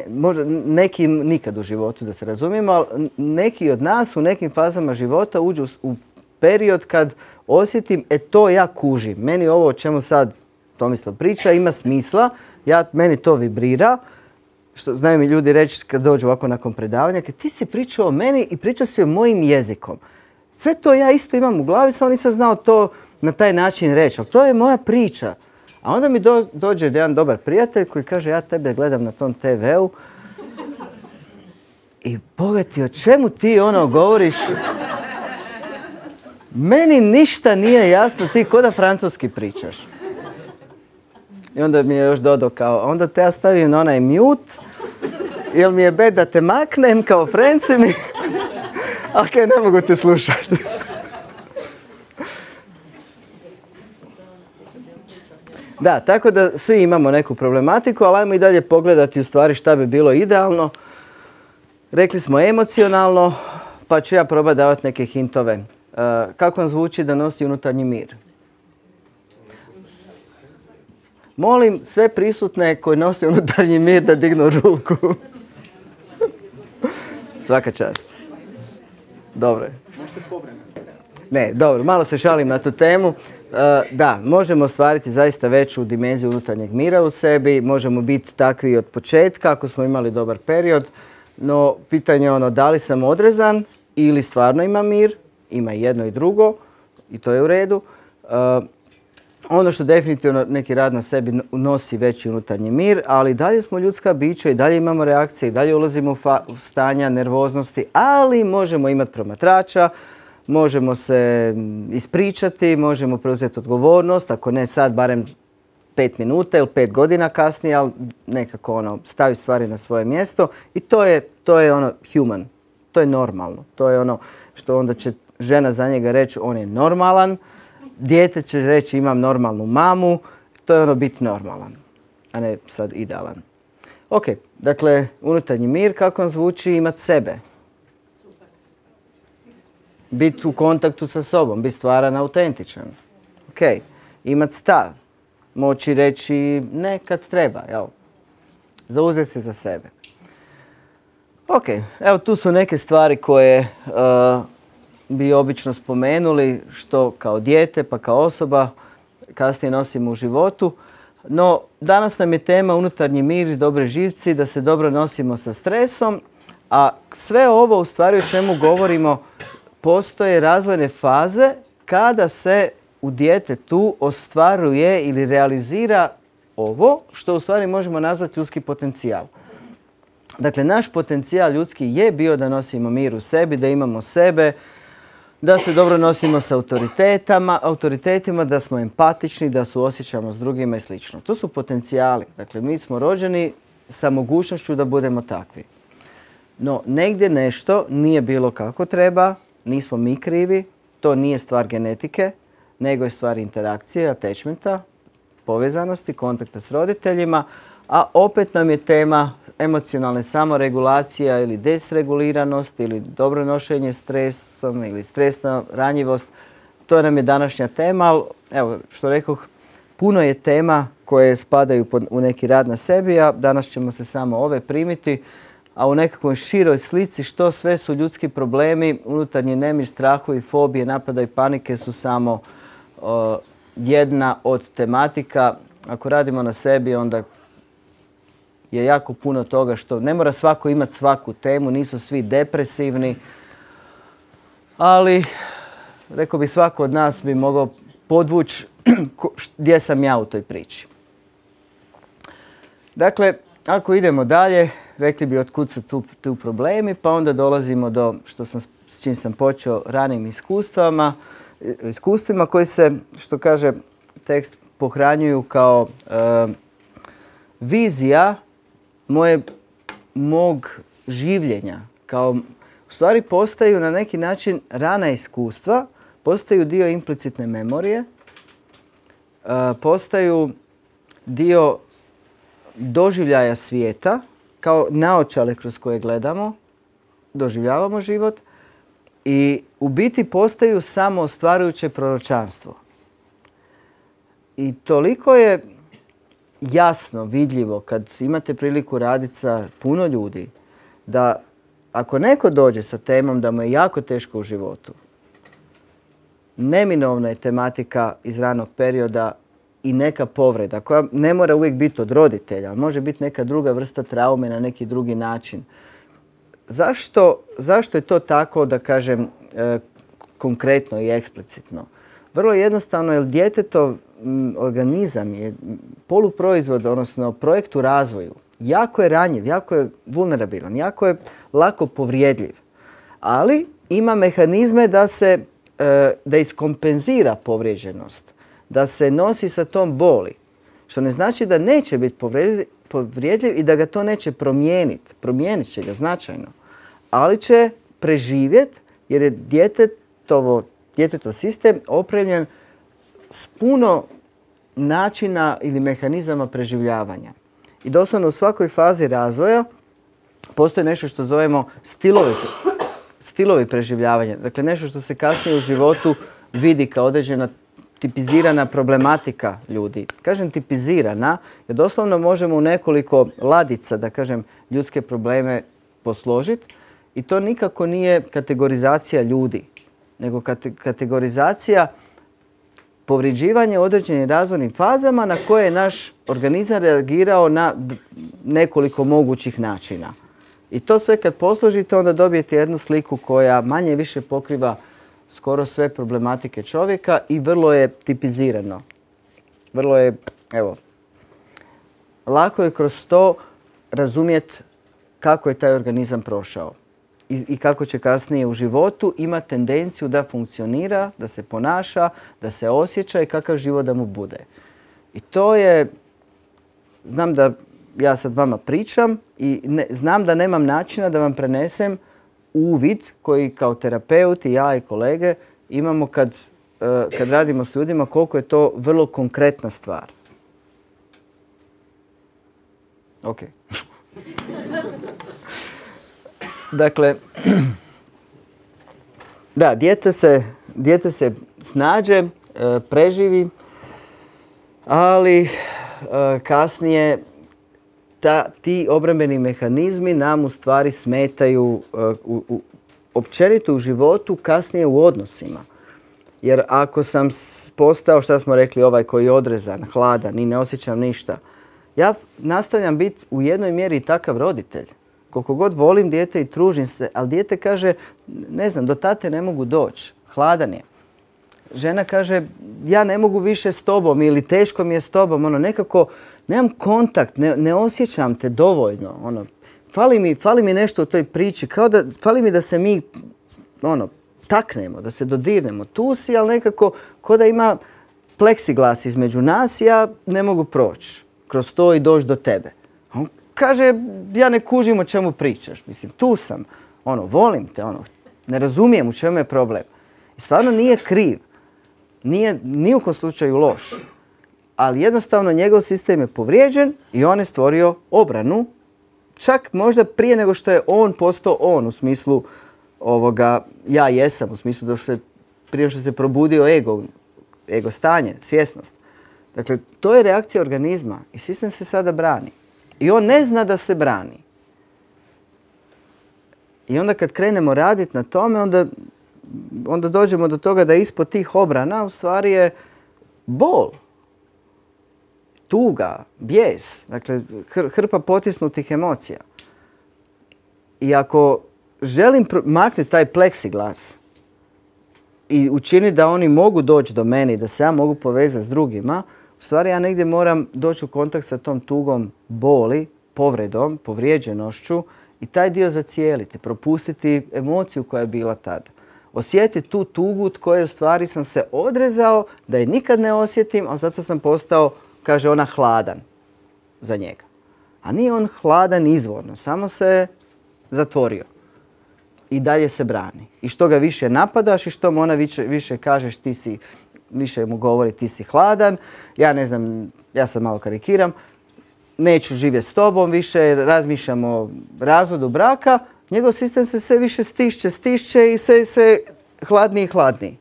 možda neki nikad u životu da se razumijemo, ali neki od nas u nekim fazama života uđu u period kad osjetim, to ja kužim. Meni ovo o čemu sad Tomislav priča ima smisla, meni to vibrira. Što znaju mi ljudi reći kad dođu ovako nakon predavanja, ti si pričao o meni i pričao si o mojim jezikom. Sve to ja isto imam u glavi, samo nisam znao to na taj način reći, ali to je moja priča. A onda mi dođe jedan dobar prijatelj koji kaže ja tebe gledam na tom TV-u i Boga ti, o čemu ti govoriš? Meni ništa nije jasno, ti ko da francuski pričaš. I onda mi je još dodao kao, onda te ja stavim na onaj mute, jer mi je bed da te maknem kao Frenci mi, ok, ne mogu te slušati. Da, tako da svi imamo neku problematiku, ali ajmo i dalje pogledati u stvari šta bi bilo idealno. Rekli smo emocionalno, pa ću ja probati davati neke hintove. Kako vam zvuči da nosi unutarnji mir? Molim sve prisutne koji nose unutarnji mir da dignu ruku. Svaka čast. Dobro. Ne, dobro, malo se šalim na tu temu. Da, možemo ostvariti zaista veću dimenziju unutarnjeg mira u sebi, možemo biti takvi od početka ako smo imali dobar period, no pitanje je da li sam odrezan ili stvarno ima mir, ima jedno i drugo i to je u redu. Ono što definitivno neki rad na sebi nosi veći unutarnji mir, ali dalje smo ljudska bića i dalje imamo reakcije i dalje ulazimo u stanja nervoznosti, ali možemo imati promatrača, možemo se ispričati, možemo preuzeti odgovornost, ako ne sad, barem 5 minuta ili 5 godina kasnije, ali nekako stavi stvari na svoje mjesto i to je human, to je normalno, to je ono što onda će žena za njega reći on je normalan, dijete će reći imam normalnu mamu, to je biti normalan, a ne sad idealan. Ok, dakle, unutarnji mir, kako on zvuči, imati sebe. Biti u kontaktu sa sobom, biti stvaran, autentičan. Ok, imati stav, moći reći ne kad treba, jel? Zauzeti se za sebe. Ok, evo tu su neke stvari koje bi obično spomenuli, što kao dijete pa kao osoba kasnije nosimo u životu. No, danas nam je tema unutarnji mir i dobre živci, da se dobro nosimo sa stresom, a sve ovo u stvari o čemu govorimo postoje razvojne faze kada se u djetetu ostvaruje ili realizira ovo što u stvari možemo nazvati ljudski potencijal. Dakle, naš potencijal ljudski je bio da nosimo mir u sebi, da imamo sebe, da se dobro nosimo sa autoritetima, da smo empatični, da suosjećamo s drugima i sl. To su potencijali. Dakle, mi smo rođeni sa mogućnošću da budemo takvi. No, negdje nešto nije bilo kako treba, nismo mi krivi, to nije stvar genetike, nego je stvar interakcije, attachmenta, povezanosti, kontakta s roditeljima, a opet nam je tema emocionalne samoregulacija ili desreguliranost ili dobro nošenje stresom ili stresna ranjivost. To nam je današnja tema, ali evo što rekoh, puno je tema koje spadaju u neki rad na sebi, a danas ćemo se samo ove primiti, a u nekakvoj široj slici što sve su ljudski problemi, unutarnji nemir, strahovi, fobije, napada i panike su samo jedna od tematika. Ako radimo na sebi, onda je jako puno toga što ne mora svako imati svaku temu, nisu svi depresivni, ali rekao bi svako od nas bi mogao podvući gdje sam ja u toj priči. Dakle, ako idemo dalje, rekli bi otkud su tu problemi, pa onda dolazimo do s čim sam počeo, ranim iskustvima koji se, što kaže tekst, pohranjuju kao vizija mog življenja. Kao, u stvari postaju na neki način rana iskustva, postaju dio implicitne memorije, postaju dio doživljaja svijeta, kao naočale kroz koje gledamo, doživljavamo život i u biti postaju samo ostvarujuće proročanstvo. I toliko je jasno, vidljivo, kad imate priliku raditi sa puno ljudi, da ako neko dođe sa temom da mu je jako teško u životu, neminovna je tematika iz ranog perioda i neka povreda koja ne mora uvijek biti od roditelja, ali može biti neka druga vrsta traume na neki drugi način. Zašto je to tako, da kažem, konkretno i eksplicitno? Vrlo jednostavno, jer djetetov organizam je poluproizvod, odnosno projekt u razvoju. Jako je ranjiv, jako je vulnerabilan, jako je lako povrijedljiv. Ali ima mehanizme da iskompenzira povrijeđenost, da se nosi sa tom boli. Što ne znači da neće biti povrijedljiv i da ga to neće promijeniti. Promijenit će ga značajno. Ali će preživjeti jer je djetetov sistem opremljen s puno načina ili mehanizama preživljavanja. I doslovno u svakoj fazi razvoja postoji nešto što zovemo stilovi preživljavanja. Dakle, nešto što se kasnije u životu vidi kao određena tipizirana problematika ljudi. Kažem tipizirana, jer doslovno možemo u nekoliko ladica, da kažem, ljudske probleme posložiti. I to nikako nije kategorizacija ljudi, nego kategorizacija povređivanja u određenim razvojnim fazama na koje je naš organizam reagirao na nekoliko mogućih načina. I to sve kad posložite, onda dobijete jednu sliku koja manje više pokriva skoro sve problematike čovjeka i vrlo je tipizirano. Vrlo je, evo, lako je kroz to razumjeti kako je taj organizam prošao i kako će kasnije u životu imati tendenciju da funkcionira, da se ponaša, da se osjeća i kakav život da mu bude. I to je, znam da ja sad vama pričam i znam da nemam načina da vam prenesem uvid koji kao terapeut i ja i kolege imamo kad radimo s ljudima, koliko je to vrlo konkretna stvar. Ok. Dakle, da, dijete se snađe, preživi, ali kasnije ti obrambeni mehanizmi nam u stvari smetaju općenito u životu, kasnije u odnosima. Jer ako sam postao, šta smo rekli, ovaj koji je odrezan, hladan i ne osjećam ništa, ja nastavljam biti u jednoj mjeri i takav roditelj. Koliko god volim dijete i tružim se, ali dijete kaže, ne znam, do tate ne mogu doći, hladan je. Žena kaže, ja ne mogu više s tobom ili teško mi je s tobom, nekako nemam kontakt, ne osjećam te dovoljno. Fali mi nešto u toj priči, fali mi da se mi taknemo, da se dodirnemo. Tu si, ali nekako ko da ima pleksiglas između nas, ja ne mogu proći kroz to i doći do tebe. On kaže, ja ne kužim o čemu pričaš. Mislim, tu sam, volim te, ne razumijem u čemu je problem. I stvarno nije kriv. Nije ni u kom slučaju loš. Ali jednostavno njegov sistem je povrijeđen i on je stvorio obranu. Čak možda prije nego što je on postao on, u smislu ja jesam, u smislu prije što se probudio ego stanje, svjesnost. Dakle, to je reakcija organizma i sistem se sada brani. I on ne zna da se brani. I onda kad krenemo raditi na tome, onda dođemo do toga da ispod tih obrana u stvari je bol, tuga, bijes, dakle hrpa potisnutih emocija. I ako želim maknuti taj pleksiglas i učiniti da oni mogu doći do mene i da se ja mogu povezati s drugima, u stvari ja negdje moram doći u kontakt sa tom tugom, boli, povredom, povrijeđenošću i taj dio zacijeliti, propustiti emociju koja je bila tada. Osjetiti tu tugu od koje u stvari sam se odrezao da je nikad ne osjetim, ali zato sam postao, kaže ona, hladan za njega. A nije on hladan izvorno, samo se zatvorio. I dalje se brani. I što ga više napadaš i što mu ona više kažeš više mu govori ti si hladan, ja ne znam, ja sad malo karikiram, neću živjeti s tobom više, razmišljam o razvodu braka, njegov sistem se sve više stišće i sve hladniji i hladniji.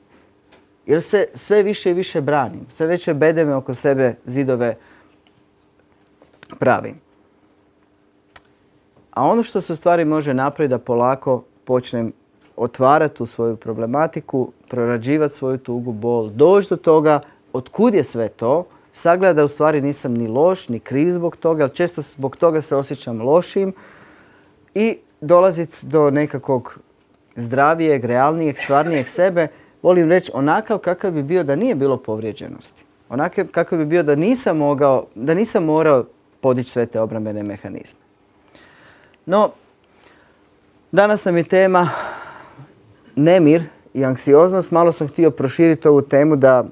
Jer se sve više i više branim, sve veće bedeme oko sebe zidove pravim. A ono što se u stvari može napraviti da polako počnem otvarati tu svoju problematiku, prorađivati svoju tugu, bol, doći do toga otkud je sve to, sagledati da u stvari nisam ni loš, ni kriv zbog toga, ali često zbog toga se osjećam lošim i dolaziti do nekakvog zdravijeg, realnijeg, stvarnijeg sebe, volim reći onakav kakav bi bio da nije bilo povrijeđenosti. Onakav kakav bi bio da nisam morao podići sve te obrambene mehanizme. No, danas nam je tema nemir i anksioznost. Malo sam htio proširiti ovu temu da,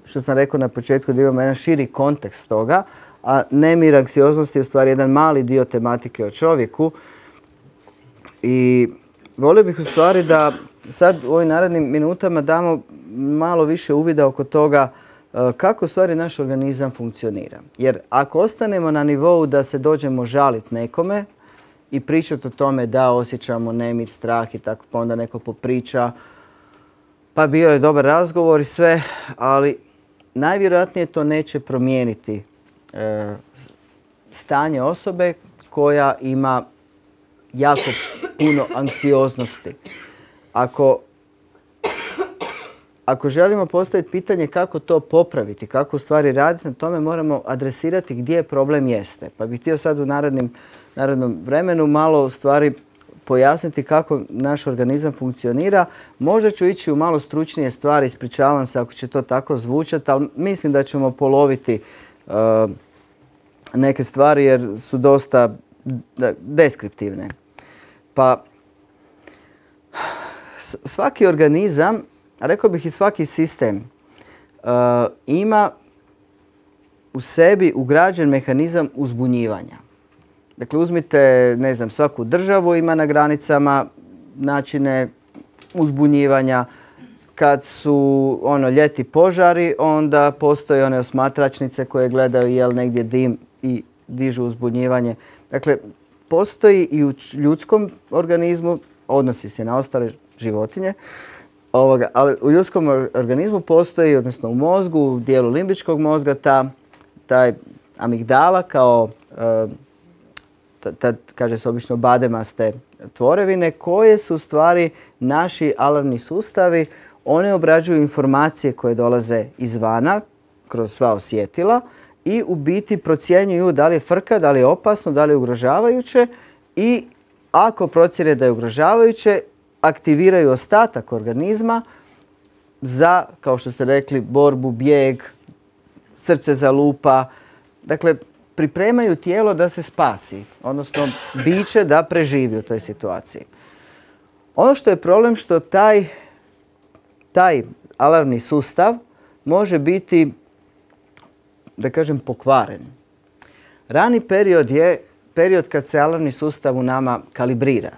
što sam rekao na početku, da imamo jedan širi kontekst toga, a nemir, anksioznost je u stvari jedan mali dio tematike o čovjeku. I volio bih u stvari da sad u ovim narednim minutama damo malo više uvida oko toga kako u stvari naš organizam funkcionira. Jer ako ostanemo na nivou da se dođemo žaliti nekome i pričati o tome da osjećamo nemir, strah i tako, pa onda neko popriča, pa bio je dobar razgovor i sve, ali najvjerojatnije to neće promijeniti stanje osobe koja ima jako puno anksioznosti. Ako želimo postaviti pitanje kako to popraviti, kako u stvari raditi na tome, moramo adresirati gdje problem jeste. Pa bih htio sad u narednom vremenu malo u stvari pojasniti kako naš organizam funkcionira. Možda ću ići u malo stručnije stvari, ispričavam se ako će to tako zvučati, ali mislim da ćemo poloviti neke stvari jer su dosta deskriptivne. Pa svaki organizam, a rekao bih i svaki sistem, ima u sebi ugrađen mehanizam uzbunjivanja. Dakle, uzmite, ne znam, svaku državu ima na granicama načine uzbunjivanja. Kad su ljeti požari, onda postoje one osmatračnice koje gledaju jel negdje dim i dižu uzbunjivanje. Dakle, postoji i u ljudskom organizmu, odnosi se na ostale životinje, ali u ljudskom organizmu postoji, odnosno u mozgu, u dijelu limbičkog mozga, taj amigdala kao, kaže se obično, bademaste tvorevine koje su u stvari naši alarmni sustavi, one obrađuju informacije koje dolaze izvana, kroz sva osjetila i u biti procjenjuju da li je frka, da li je opasno, da li je ugrožavajuće i ako procjene da je ugrožavajuće, aktiviraju ostatak organizma za, kao što ste rekli, borbu, bijeg, srce zalupa. Dakle, pripremaju tijelo da se spasi, odnosno biće da preživi u toj situaciji. Ono što je problem što taj alarmni sustav može biti, da kažem, pokvaren. Rani period je period kad se alarmni sustav u nama kalibrira.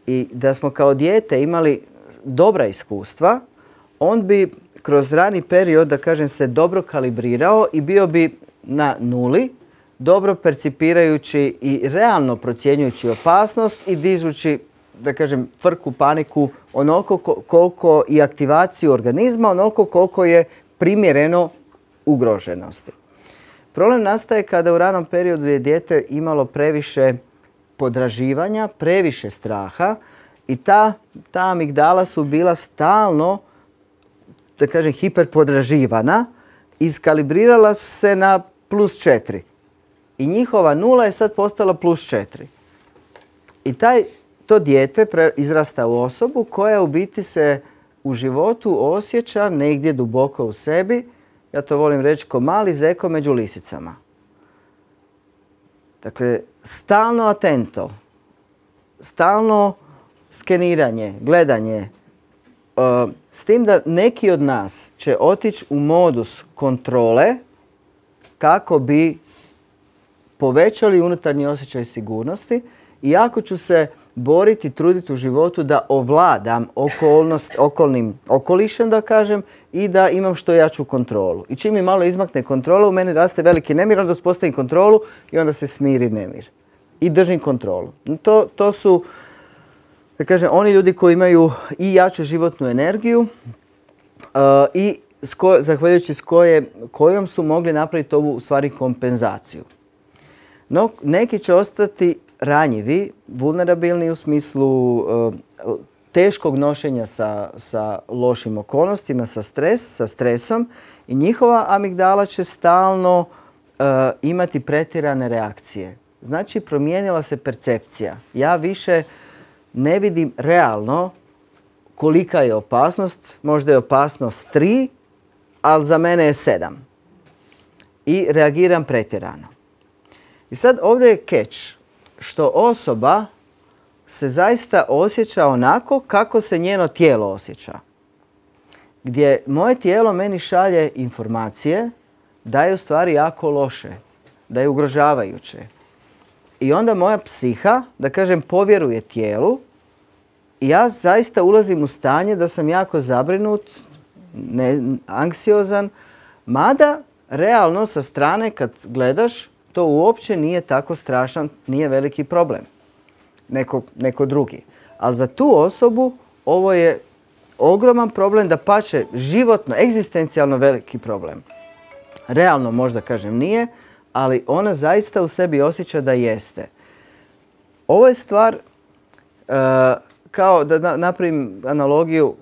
I da smo kao dijete imali dobra iskustva, on bi kroz rani period, da kažem, se dobro kalibrirao i bio bi na nuli, dobro percipirajući i realno procjenjujući opasnost i dižući, da kažem, frku, paniku onoliko koliko i aktivaciju organizma, onoliko koliko je primjereno ugroženosti. Problem nastaje kada u ranom periodu je dijete imalo previše podraživanja, previše straha i ta amigdala su bila stalno, da kažem, hiperpodraživana, iskalibrirala su se na +4. I njihova nula je sad postala +4. I to dijete izrasta u osobu koja u biti se u životu osjeća negdje duboko u sebi, ja to volim reći, ko mali zeko među lisicama. Dakle, stalno atento, stalno skeniranje, gledanje, s tim da neki od nas će otići u modus kontrole kako bi povećali unutarnji osjećaj sigurnosti i jako ću se boriti, truditi u životu da ovladam okolnim okolišem, da kažem, i da imam što jaču kontrolu. I čim mi malo izmakne kontrola, u meni raste veliki nemir, onda uspostavim kontrolu i onda se smiri nemir. I držim kontrolu. To su, da kažem, oni ljudi koji imaju i jaču životnu energiju i zahvaljujući s kojom su mogli napraviti ovu, u stvari, kompenzaciju. No, neki će ostati ranjivi, vulnerabilni u smislu teškog nošenja sa lošim okolnostima, sa stresom i njihova amigdala će stalno imati pretjerane reakcije. Znači, promijenila se percepcija. Ja više ne vidim realno kolika je opasnost. Možda je opasnost 3, ali za mene je 7. I reagiram pretjerano. I sad ovdje je catch, što osoba se zaista osjeća onako kako se njeno tijelo osjeća. Gdje moje tijelo meni šalje informacije da je u stvari jako loše, da je ugrožavajuće. I onda moja psiha, da kažem, povjeruje tijelu i ja zaista ulazim u stanje da sam jako zabrinut, anksiozan, mada realno sa strane kad gledaš to uopće nije tako strašan, nije veliki problem. Neko drugi. Ali za tu osobu ovo je ogroman problem, dapače životno, egzistencijalno veliki problem. Realno možda, kažem, nije, ali ona zaista u sebi osjeća da jeste. Ovo je stvar, kao da napravim analogiju,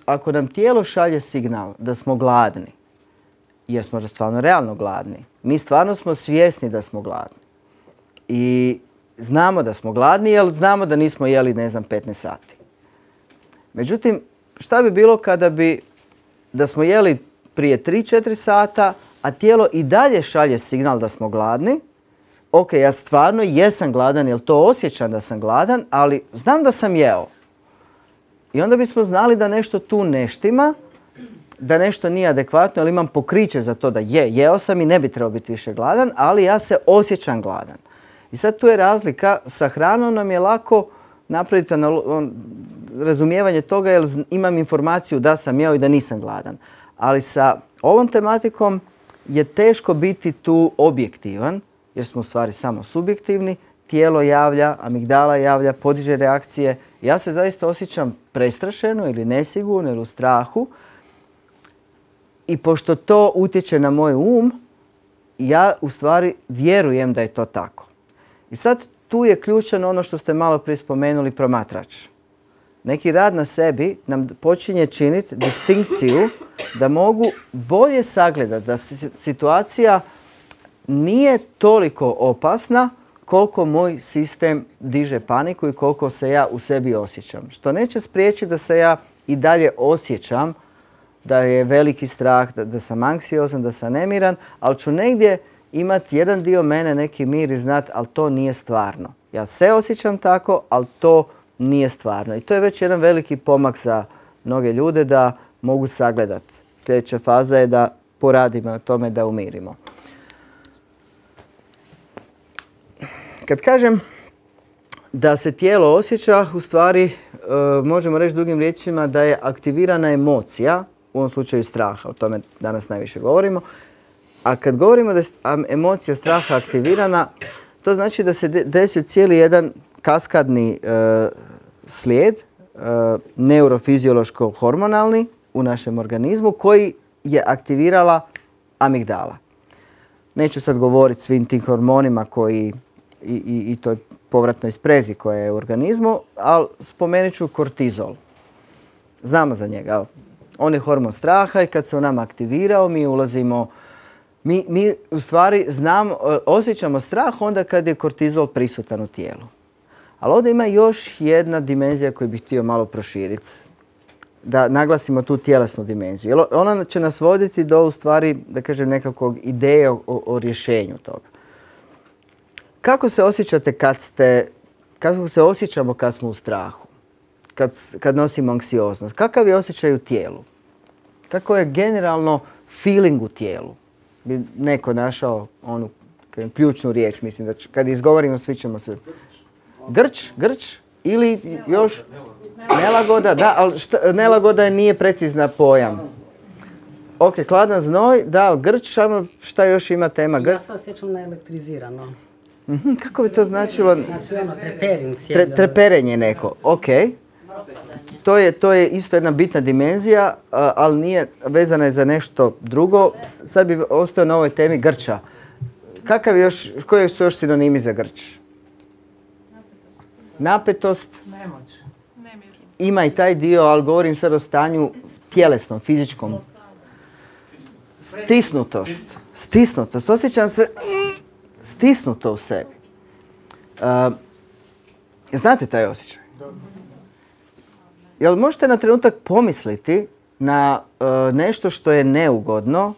ako nam tijelo šalje signal da smo gladni, jer smo stvarno realno gladni, mi stvarno smo svjesni da smo gladni. I znamo da smo gladni, jer znamo da nismo jeli, 15 sati. Međutim, šta bi bilo da smo jeli prije 3-4 sata, a tijelo i dalje šalje signal da smo gladni? Ok, ja stvarno jesam gladan, jer to osjećam da sam gladan, ali znam da sam jeo. I onda bismo znali da nešto tu ne štima, da nešto nije adekvatno, jer imam pokriće za to da jeo sam i ne bi trebao biti više gladan, ali ja se osjećam gladan. I sad tu je razlika, sa hranom nam je lako napraviti razumijevanje toga jer imam informaciju da sam jeo i da nisam gladan. Ali sa ovom tematikom je teško biti tu objektivan, jer smo u stvari samo subjektivni. Tijelo javlja, amigdala javlja, podiže reakcije. Ja se zaista osjećam prestrašeno ili nesigurno ili u strahu. I pošto to utječe na moj ja u stvari vjerujem da je to tako. I sad tu je ključan ono što ste malo prije spomenuli, promatrač. Neki rad na sebi nam počinje činiti distinkciju da mogu bolje sagledati da situacija nije toliko opasna koliko moj sistem diže paniku i koliko se ja u sebi osjećam. Što neće spriječiti da se ja i dalje osjećam da je veliki strah, da sam anksiozan, da sam nemiran, ali ću negdje imati jedan dio mene, neki mir i znati, ali to nije stvarno. Ja se osjećam tako, ali to nije stvarno. I to je već jedan veliki pomak za mnoge ljude da mogu sagledati. Sljedeća faza je da poradimo na tome da umirimo. Kad kažem da se tijelo osjeća, u stvari možemo reći drugim riječima da je aktivirana emocija, u ovom slučaju straha, o tome danas najviše govorimo. A kad govorimo da je emocija straha aktivirana, to znači da se desio cijeli jedan kaskadni slijed, neurofiziološko-hormonalni u našem organizmu koji je aktivirala amigdala. Neću sad govoriti svim tim hormonima koji i toj povratnoj sprezi koja je u organizmu, ali spomenut ću kortizol. Znamo za njega. On je hormon straha i kad se on nam aktivirao, mi ulazimo, mi u stvari osjećamo strah onda kad je kortizol prisutan u tijelu. Ali ovdje ima još jedna dimenzija koju bih htio malo proširiti. Da naglasimo tu tjelesnu dimenziju. Jer ona će nas voditi do, u stvari, da kažem, nekakvog ideje o rješenju toga. Kako se osjećate kako se osjećamo kad smo u strahu? Kad nosimo anksioznost? Kakav je osjećaj u tijelu? Kako je generalno feeling u tijelu? Bi neko našao onu ključnu riječ, mislim da kad izgovorimo svi ćemo se... Grč ili još nelagoda, da, ali nelagoda nije precizna pojam. Ok, hladan znoj, da, ali grč, šta još ima tema? Ja se osjećam naelektrizirano. Kako bi to značilo? Znači ono, trepering. Treperenje neko, ok. To je isto jedna bitna dimenzija, ali nije vezana je za nešto drugo. Sad bi ostao na ovoj temi grča. Koji su još sinonimi za grč? Napetost. Nemoć. Ima i taj dio, ali govorim sad o stanju tjelesnom, fizičkom. Stisnutost. Osjećam se stisnuto u sebi. Znate taj osjećaj? Jel možete na trenutak pomisliti na nešto što je neugodno?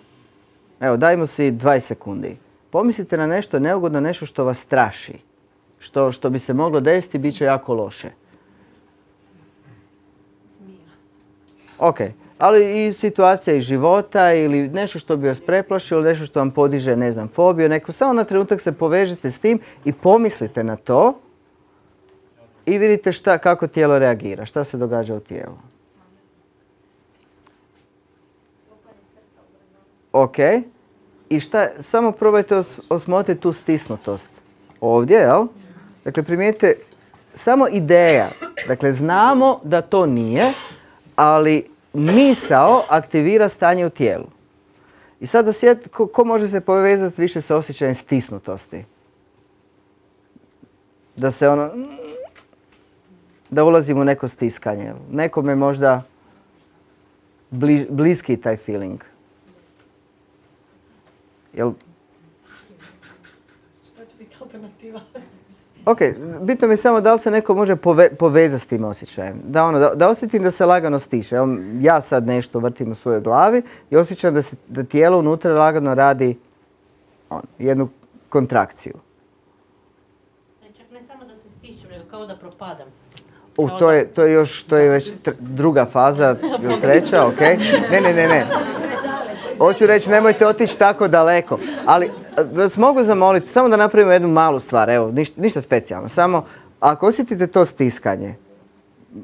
Evo, dajmo si 20 sekundi. Pomislite na nešto neugodno, nešto što vas straši. Što bi se moglo desiti, bit će jako loše. Ok, ali i situacija iz života ili nešto što bi vas preplašilo, nešto što vam podiže, ne znam, fobiju, samo na trenutak se povežete s tim i pomislite na to i vidite kako tijelo reagira, šta se događa u tijelu. Ok, i samo probajte osmotriti tu stisnutost. Ovdje, jel? Dakle, primijetite, samo ideja. Dakle, znamo da to nije, ali misao aktivira stanje u tijelu. I sad ko može se povezati više sa osjećajem stisnutosti? Da ulazimo u neko stiskanje. Nekome možda bliski taj feeling. Jel? Šta će biti alternativa? Ok, bitno mi je samo da li se neko može povezati s tim osjećajem. Da osjetim da se lagano stiše. Ja sad nešto vrtim u svojoj glavi i osjećam da tijelo unutra lagano radi jednu kontrakciju. Čak ne samo da se stišem, nego kao da propadam. To je već druga faza, treća, ok. Ne. Hoću reći, nemojte otići tako daleko. Ali vas mogu zamoliti, samo da napravimo jednu malu stvar, evo, ništa specijalno. Samo, ako osjetite to stiskanje,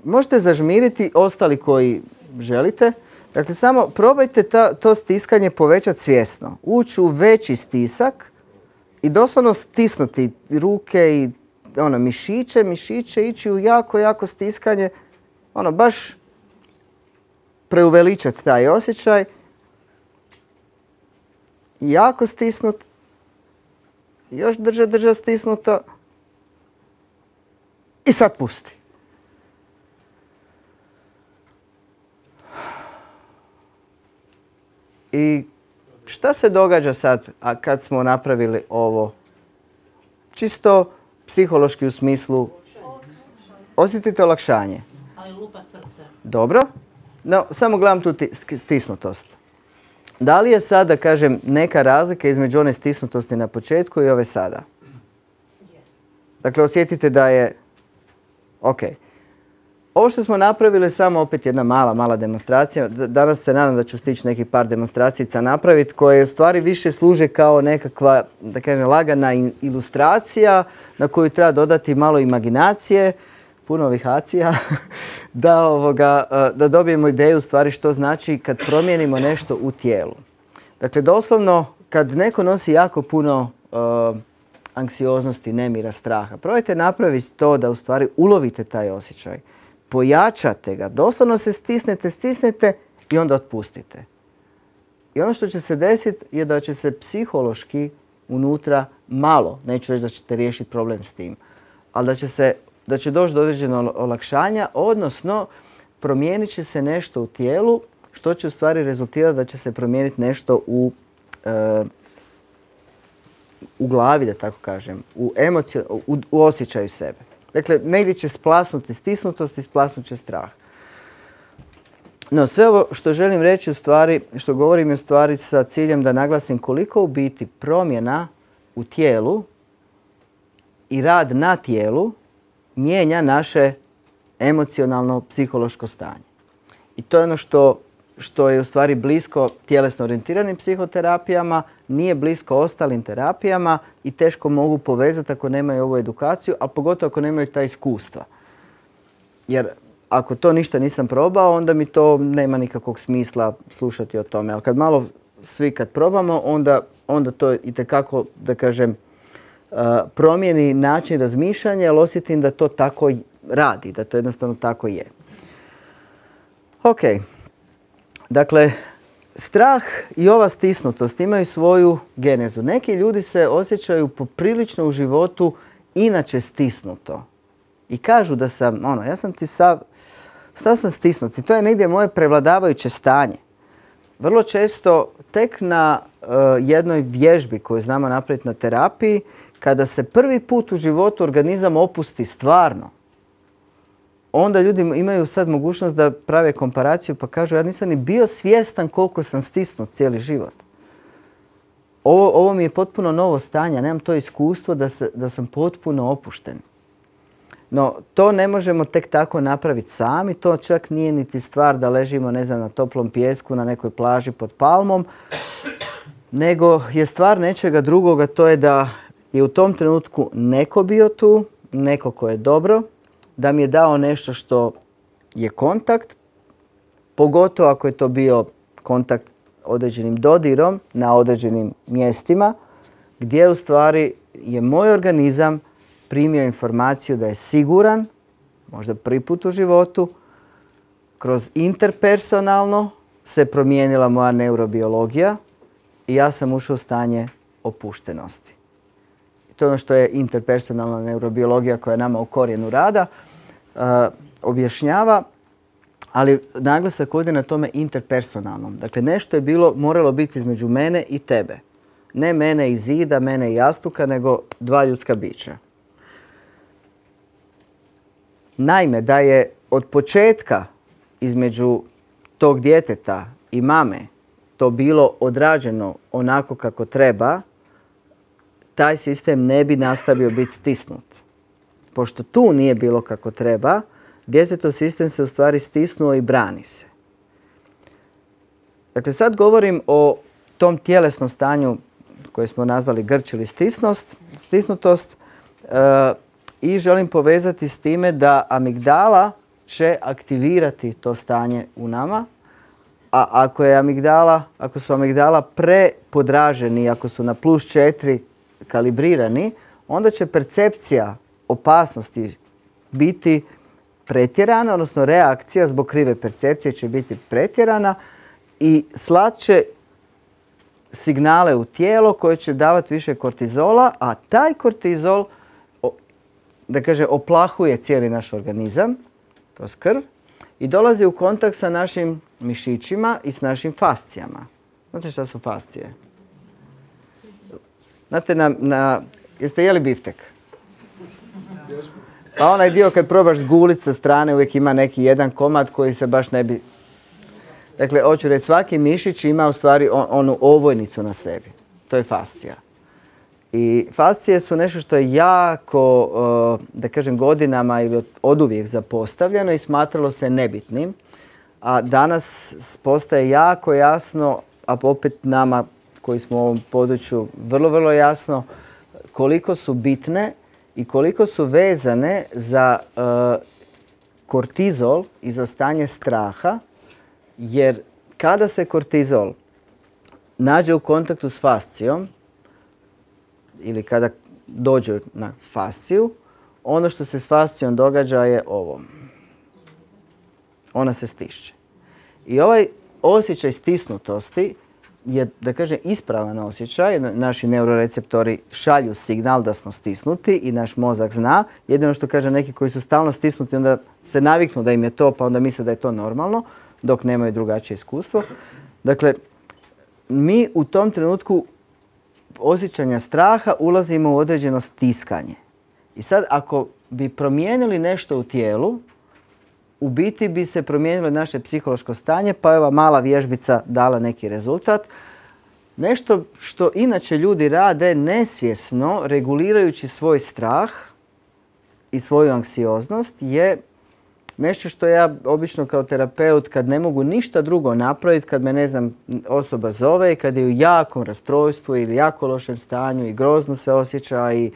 možete zažmiriti ostali koji želite. Dakle, samo probajte to stiskanje povećati svjesno. Ući u veći stisak i doslovno stisnuti ruke i mišiće, ići u jako stiskanje. Baš preuveličati taj osjećaj. Jako stisnut. Još drža stisnuto. I sad pusti. I šta se događa sad kad smo napravili ovo? Čisto psihološki u smislu osjetite olakšanje. Ali lupa srce. Dobro. No, samo gledam tu stisnutost. Da li je sad, da kažem, neka razlika između one stisnutosti na početku i ove sada? Dakle, osjetite da je... Ok. Ovo što smo napravili je samo opet jedna mala demonstracija. Danas se nadam da ću stići neki par demonstracija napraviti koje u stvari više služe kao nekakva, da kažem, lagana ilustracija na koju treba dodati malo imaginacije, puno ovih acija, da dobijemo ideju u stvari što znači kad promijenimo nešto u tijelu. Dakle, doslovno, kad neko nosi jako puno anksioznosti, nemira, straha, probajte napraviti to da u stvari ulovite taj osjećaj. Pojačate ga, doslovno se stisnete i onda otpustite. I ono što će se desiti je da će se psihološki unutra malo, neću reći da ćete riješiti problem s tim, ali da će doći do određenog olakšanja, odnosno promijenit će se nešto u tijelu, što će u stvari rezultirati da će se promijeniti nešto u glavi, da tako kažem, u osjećaju sebe. Dakle, negdje će splasnuti stisnutost i splasnut će strah. No, sve ovo što želim reći u stvari, što govorim je u stvari sa ciljem da naglasim koliko u biti promjena u tijelu i rad na tijelu mijenja naše emocionalno psihološko stanje. I to je ono što je u stvari blisko tjelesno orijentiranim psihoterapijama, nije blisko ostalim terapijama i teško mogu povezati ako nemaju ovu edukaciju, a pogotovo ako nemaju ta iskustva. Jer ako to ništa nisam probao, onda mi to nema nikakvog smisla slušati o tome. Ali kad malo svi kad probamo, onda to itekako, da kažem, promijeni način razmišljanja, jer osjetim da to tako radi, da to jednostavno tako je. Ok. Dakle, strah i ova stisnutost imaju svoju genezu. Neki ljudi se osjećaju poprilično u životu inače stisnuto. I kažu da sam, ja sam ti stao sam stisnut i to je negdje moje prevladavajuće stanje. Vrlo često tek na jednoj vježbi koju znamo napraviti na terapiji, kada se prvi put u životu organizam opusti stvarno, onda ljudi imaju sad mogućnost da prave komparaciju pa kažu ja nisam ni bio svjestan koliko sam stisnut cijeli život. Ovo mi je potpuno novo stanje, nemam to iskustvo da sam potpuno opušten. No, to ne možemo tek tako napraviti sami, to čak nije niti stvar da ležimo, ne znam, na toplom pijesku, na nekoj plaži pod palmom, nego je stvar nečega drugoga, to je da je u tom trenutku neko bio tu, neko ko je dobro, da mi je dao nešto što je kontakt, pogotovo ako je to bio kontakt određenim dodirom na određenim mjestima, gdje u stvari je moj organizam primio informaciju da je siguran, možda prvi put u životu, kroz interpersonalno se promijenila moja neurobiologija i ja sam ušao u stanje opuštenosti. To je ono što je interpersonalna neurobiologija koja je nama u korijenu rada objašnjava, ali naglasak ovdje na tome interpersonalnom. Dakle, nešto je moralo biti između mene i tebe. Ne mene i zida, mene i jastuka, nego dva ljudska bića. Naime, da je od početka između tog djeteta i mame to bilo odrađeno onako kako treba, taj sistem ne bi nastavio biti stisnut. Pošto tu nije bilo kako treba, djetetov sistem se u stvari stisnuo i brani se. Dakle, sad govorim o tom tjelesnom stanju koje smo nazvali grč ili stisnutost i želim povezati s time da amigdala će aktivirati to stanje u nama, a ako su amigdala prepodraženi, ako su na +4 kalibrirani, onda će percepcija opasnosti biti pretjerana, odnosno reakcija zbog krive percepcije će biti pretjerana i slat će signale u tijelo koje će davati više kortizola, a taj kortizol, da kaže, oplahuje cijeli naš organizam kroz krv i dolazi u kontakt sa našim mišićima i s našim fascijama. Znate šta su fascije? Znate, jeste jeli biftek? Pa onaj dio kad probaš gulit sa strane uvijek ima neki jedan komad koji se baš ne bi... Dakle, hoću reći, svaki mišić ima u stvari onu ovojnicu na sebi. To je fascija. I fascije su nešto što je jako, da kažem, godinama ili oduvijek zapostavljeno i smatralo se nebitnim. A danas postaje jako jasno, a opet nama koji smo u ovom području vrlo, vrlo jasno, koliko su bitne i koliko su vezane za kortizol i za stanje straha, jer kada se kortizol nađe u kontaktu s fascijom ili kada dođe na fasciju, ono što se s fascijom događa je ovo. Ona se stišće. I ovaj osjećaj stisnutosti je, da kažem, ispravan osjećaj. Naši neuroreceptori šalju signal da smo stisnuti i naš mozak zna. Jedino što kaže neki koji su stalno stisnuti, onda se naviknu da im je to, pa onda misle da je to normalno, dok nemaju drugačije iskustvo. Dakle, mi u tom trenutku osjećanja straha ulazimo u određeno stiskanje. I sad, ako bi promijenili nešto u tijelu, u biti bi se promijenilo naše psihološko stanje, pa je ova mala vježbica dala neki rezultat. Nešto što inače ljudi rade nesvjesno, regulirajući svoj strah i svoju anksioznost, je nešto što ja obično kao terapeut, kad ne mogu ništa drugo napraviti, kad me, ne znam, osoba zove i kad je u jakom rastrojstvu ili jako lošem stanju i grozno se osjeća i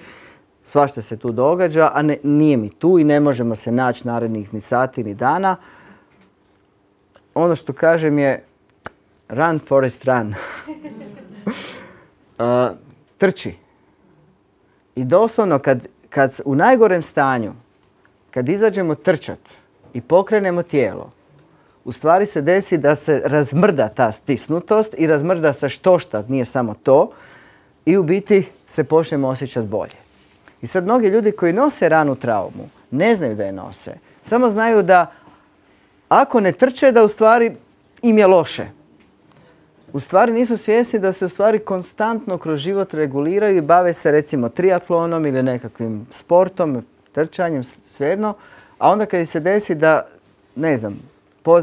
svašta se tu događa, a nije mi tu i ne možemo se naći narednih ni sati ni dana. Ono što kažem je run Forest run. Trči. I doslovno kad u najgorem stanju, kad izađemo trčat i pokrenemo tijelo, u stvari se desi da se razmrda ta stisnutost i razmrda se štošta, nije samo to, i u biti se počnemo osjećati bolje. I sad mnogi ljudi koji nose ranu traumu ne znaju da je nose. Samo znaju da ako ne trče da u stvari im je loše. U stvari nisu svjesni da se u stvari konstantno kroz život reguliraju i bave se recimo triatlonom ili nekakvim sportom, trčanjem, svejedno. A onda kad se desi da, ne znam,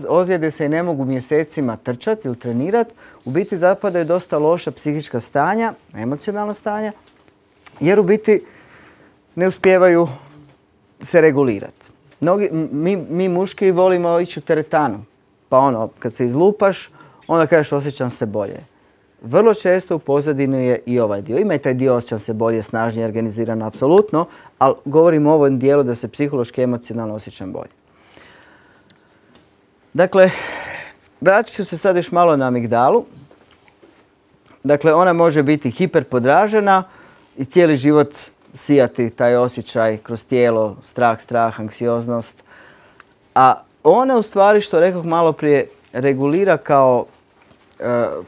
ozljede se i ne mogu mjesecima trčati ili trenirati, u biti zapadaju dosta loša psihička stanja, emocionalna stanja, jer u biti ne uspijevaju se regulirati. Mi muški volimo ići u teretanu. Pa ono, kad se izlupaš, onda kažeš osjećam se bolje. Vrlo često u pozadini je i ovaj dio. Ima i taj dio osjećam se bolje, snažnije, organizirano, apsolutno, ali govorim o ovom dijelu da se psihološki, emocionalno osjećam bolje. Dakle, vratit ću se sad još malo na amigdalu. Dakle, ona može biti hiperpodražena i cijeli život sijati taj osjećaj kroz tijelo, strah, anksioznost. A ona u stvari, što rekoh malo prije,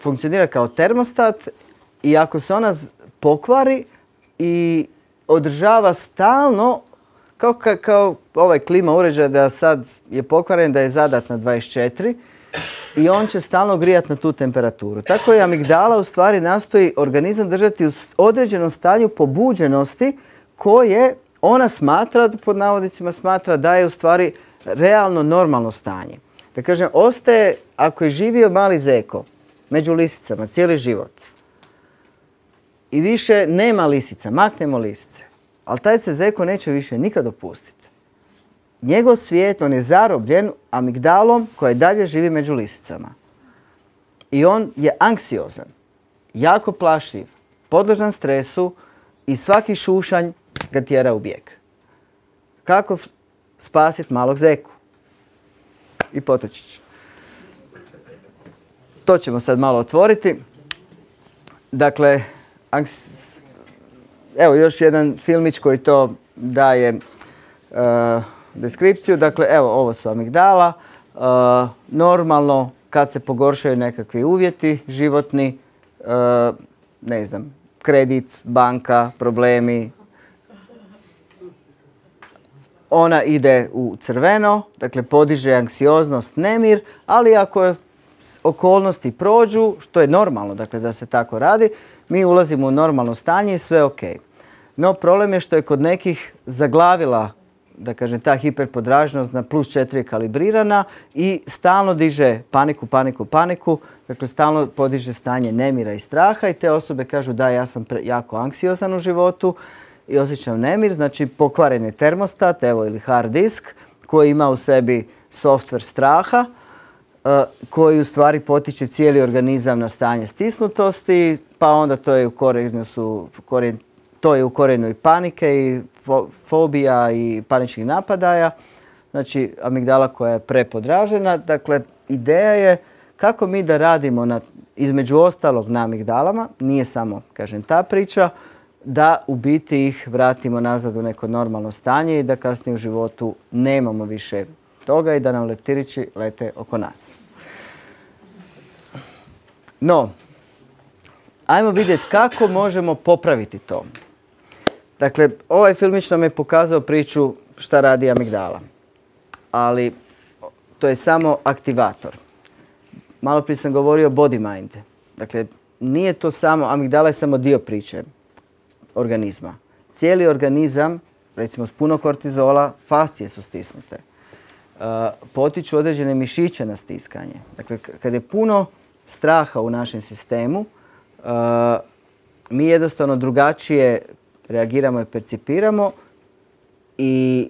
funkcionira kao termostat i ako se ona pokvari i održava stalno, kao ovaj klima uređaj da sad je pokvaren, da je zadat na 24 i on će stalno grijati na tu temperaturu. Tako je amigdala u stvari nastoji organizam držati u određenom stanju pobuđenosti koje ona smatra, pod navodnicima smatra, da je u stvari realno normalno stanje. Da kažem, ostaje, ako je živio mali zeko među lisicama cijeli život i više nema lisica, maknemo lisice, ali taj se zeko neće više nikad opustiti. Njegov svijet, on je zarobljen amigdalom koja dalje živi među lisicama. I on je anksiozan, jako plašljiv, podložan stresu i svaki šušanj ga tjera u bijeg. Kako spasiti malog zeku? I potočić. To ćemo sad malo otvoriti. Dakle, evo još jedan filmić koji to daje deskripciju. Dakle, evo ovo su amigdala. Normalno kad se pogoršaju nekakvi uvjeti životni, ne znam, kredit, banka, problemi, ona ide u crveno, dakle podiže anksioznost, nemir, ali ako je okolnosti prođu, što je normalno, dakle da se tako radi, mi ulazimo u normalno stanje i sve ok. No problem je što je kod nekih zaglavila, da kažem, ta hiperpodraženost na +4 kalibrirana i stalno diže paniku, dakle stalno podiže stanje nemira i straha i te osobe kažu da ja sam jako anksiozan u životu i osjećam nemir, znači pokvaren je termostat, evo ili hard disk koji ima u sebi software straha koji u stvari potiče cijeli organizam na stanje stisnutosti, pa onda to je u korijenu i panike i fobija i paničnih napadaja, znači amigdala koja je prepodražena. Dakle, ideja je kako mi da radimo između ostalog na amigdalama, nije samo, kažem, ta priča, da u biti ih vratimo nazad u neko normalno stanje i da kasnije u životu nemamo više toga i da nam leptirići lete oko nas. No, ajmo vidjeti kako možemo popraviti to. Dakle, ovaj filmić nam je pokazao priču šta radi amigdala, ali to je samo aktivator. Malo prije sam govorio body mind. Dakle, nije to samo, amigdala je samo dio priče organizma. Cijeli organizam, recimo s puno kortizola, fascije su stisnute. Potiču određene mišiće na stiskanje. Dakle, kad je puno straha u našem sistemu, mi jednostavno drugačije reagiramo i percipiramo i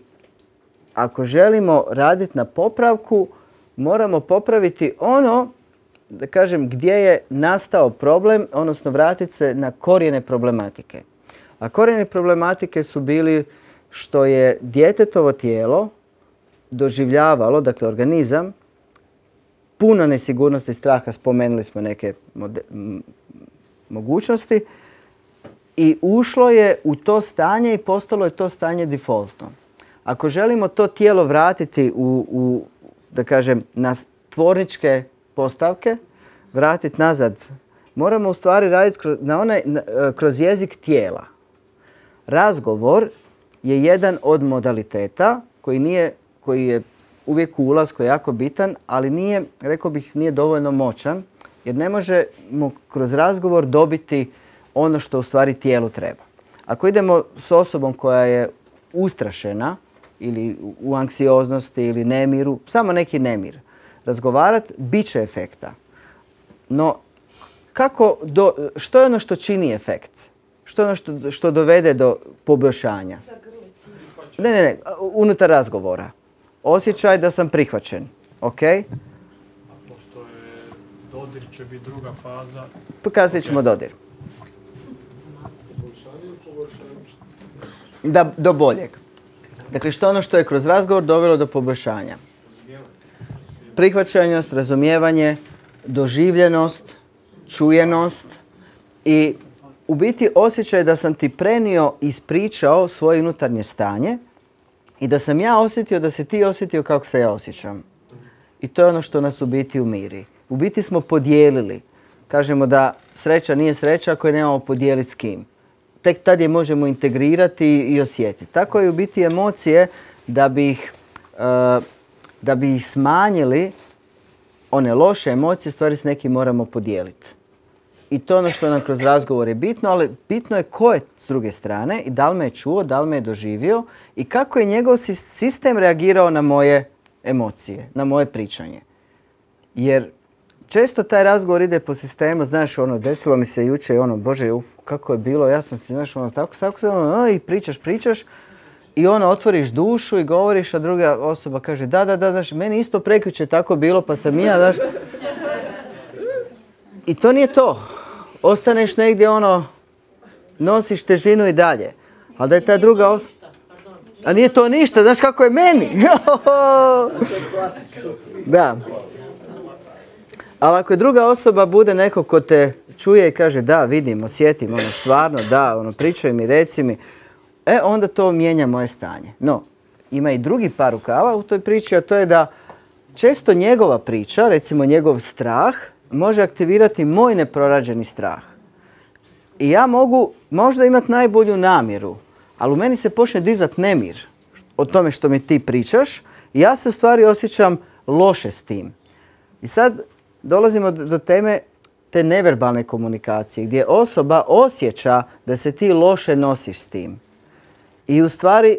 ako želimo raditi na popravku, moramo popraviti ono, da kažem, gdje je nastao problem, odnosno vratiti se na korijene problematike. A korijene problematike su bili što je djetetovo tijelo doživljavalo, dakle organizam, puno nesigurnosti i straha, spomenuli smo neke mogućnosti, i ušlo je u to stanje i postalo je to stanje defaultno. Ako želimo to tijelo vratiti da kažem, na tvorničke postavke, vratiti nazad, moramo u stvari raditi kroz jezik tijela. Razgovor je jedan od modaliteta koji je uvijek u ulasku jako bitan, ali nije, rekao bih, nije dovoljno moćan, jer ne možemo kroz razgovor dobiti ono što u stvari tijelu treba. Ako idemo s osobom koja je ustrašena ili u anksioznosti ili nemiru, samo neki nemir, razgovarati, bit će efekta. No, što je ono što čini efekt? Što je ono što dovede do poboljšanja? Ne, unutar razgovora. Osjećaj da sam prihvaćen. Ok? A pošto je dodir će biti druga faza. Kasnije ćemo dodir. Do boljeg. Dakle, što ono što je kroz razgovor dovelo do poboljšanja? Prihvaćenost, razumijevanje, doživljenost, čujenost i u biti osjećaj da sam ti prenio i ispričao svoje unutarnje stanje i da sam ja osjetio da se ti osjetio kako se ja osjećam. I to je ono što nas u biti umiri. U biti smo podijelili. Kažemo da sreća nije sreća ako je nemamo podijeliti s kim. Tek tad je možemo integrirati i osjetiti. Tako je u biti emocije da bi ih smanjili, one loše emocije, stvari s nekim moramo podijeliti. I to je ono što nam kroz razgovor je bitno, ali bitno je ko je s druge strane i da li me je čuo, da li me je doživio i kako je njegov sistem reagirao na moje emocije, na moje pričanje. Jer često taj razgovor ide po sistemu, znaš, desilo mi se jučer, bože, kako je bilo, ja sam ti, znaš, tako, i pričaš, i otvoriš dušu i govoriš, a druga osoba kaže, da, znaš, meni isto prekjučer tako bilo, pa sam ja, znaš. I to nije to. Ostaneš negdje, nosiš težinu i dalje. Ali da je ta druga osoba... A nije to ništa, znaš kako je meni. Da. Ali ako je druga osoba bude neko ko te čuje i kaže da, vidim, osjetim, stvarno, da, pričaj mi, reci mi, onda to mijenja moje stanje. No, ima i drugi par rukava u toj priči, a to je da često njegova priča, recimo njegov strah, može aktivirati moj neprorađeni strah. I ja mogu možda imati najbolju namjeru, ali u meni se počne dizat nemir o tome što mi ti pričaš i ja se u stvari osjećam loše s tim. I sad dolazimo do teme te neverbalne komunikacije gdje osoba osjeća da se ti loše nosiš s tim. I u stvari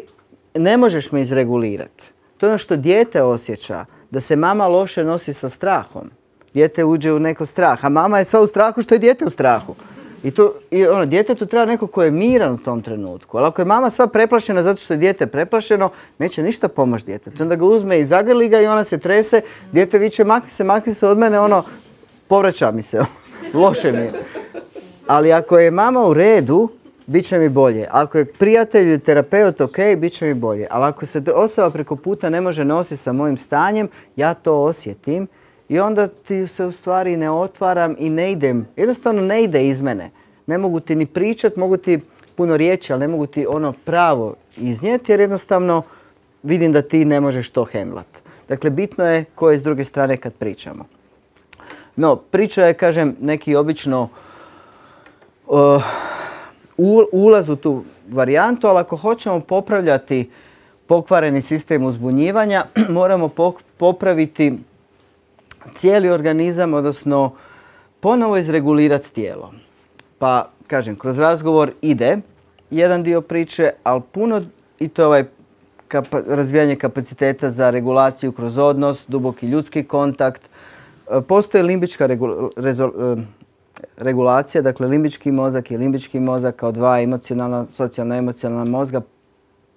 ne možeš me izregulirati. To je ono što dijete osjeća, da se mama loše nosi sa strahom. Dijete uđe u neko strah, a mama je sva u strahu što je dijete u strahu. I djetetu treba neko ko je miran u tom trenutku. Ali ako je mama sva preplašena zato što je dijete preplašeno, neće ništa pomoći djetetu. Onda ga uzme i zagrli ga i ona se trese, dijete viče makni se od mene, povraća mi se, loše mi je. Ali ako je mama u redu, bit će mi bolje. Ako je prijatelj ili terapeut ok, bit će mi bolje. Ali ako se osoba preko puta ne može nositi sa mojim stanjem, ja to osjetim i onda ti se u stvari ne otvaram i ne idem. Jednostavno ne ide iz mene. Ne mogu ti ni pričat, mogu ti puno riječi, ali ne mogu ti ono pravo iznijeti jer jednostavno vidim da ti ne možeš to hendlat. Dakle, bitno je ko je s druge strane kad pričamo. No, priča je, kažem, neki obično ulaz u tu varijantu, ali ako hoćemo popravljati pokvareni sistem uzbunjivanja, moramo popraviti cijeli organizam, odnosno ponovo izregulirati tijelo. Pa, kažem, kroz razgovor ide jedan dio priče, ali puno, i to je razvijanje kapaciteta za regulaciju kroz odnos, duboki ljudski kontakt. Postoji limbička regulacija, dakle limbički mozak i limbički mozak kao dva emocionalna, socijalno-emocionalna mozga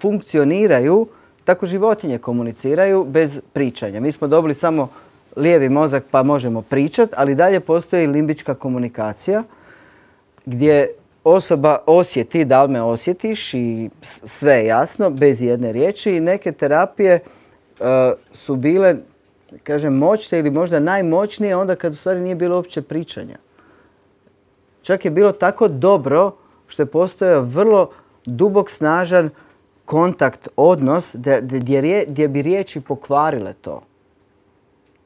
funkcioniraju, tako životinje komuniciraju bez pričanja. Mi smo dobili samo lijevi mozak pa možemo pričati, ali dalje postoji limbička komunikacija gdje osoba osjeti da li me osjetiš i sve je jasno, bez jedne riječi. I neke terapije su bile, kažem, moćne ili možda najmoćnije onda kad u stvari nije bilo uopće pričanja. Čak je bilo tako dobro što je postojao vrlo dubok, snažan kontakt, odnos gdje bi riječi pokvarile to.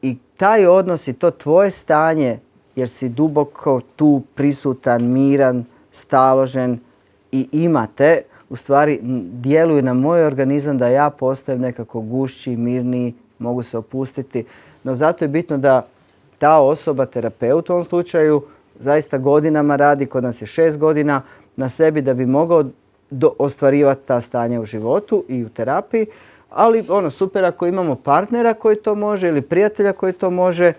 I taj odnos i to tvoje stanje, jer si duboko tu prisutan, miran, staložen i imate, u stvari djeluju na moj organizam da ja postajem nekako gušći, mirniji, mogu se opustiti. No zato je bitno da ta osoba, terapeut u ovom slučaju, zaista godinama radi, kod nas je 6 godina, na sebi da bi mogao ostvarivati ta stanja u životu i u terapiji. Ali super ako imamo partnera koji to može ili prijatelja koji to može,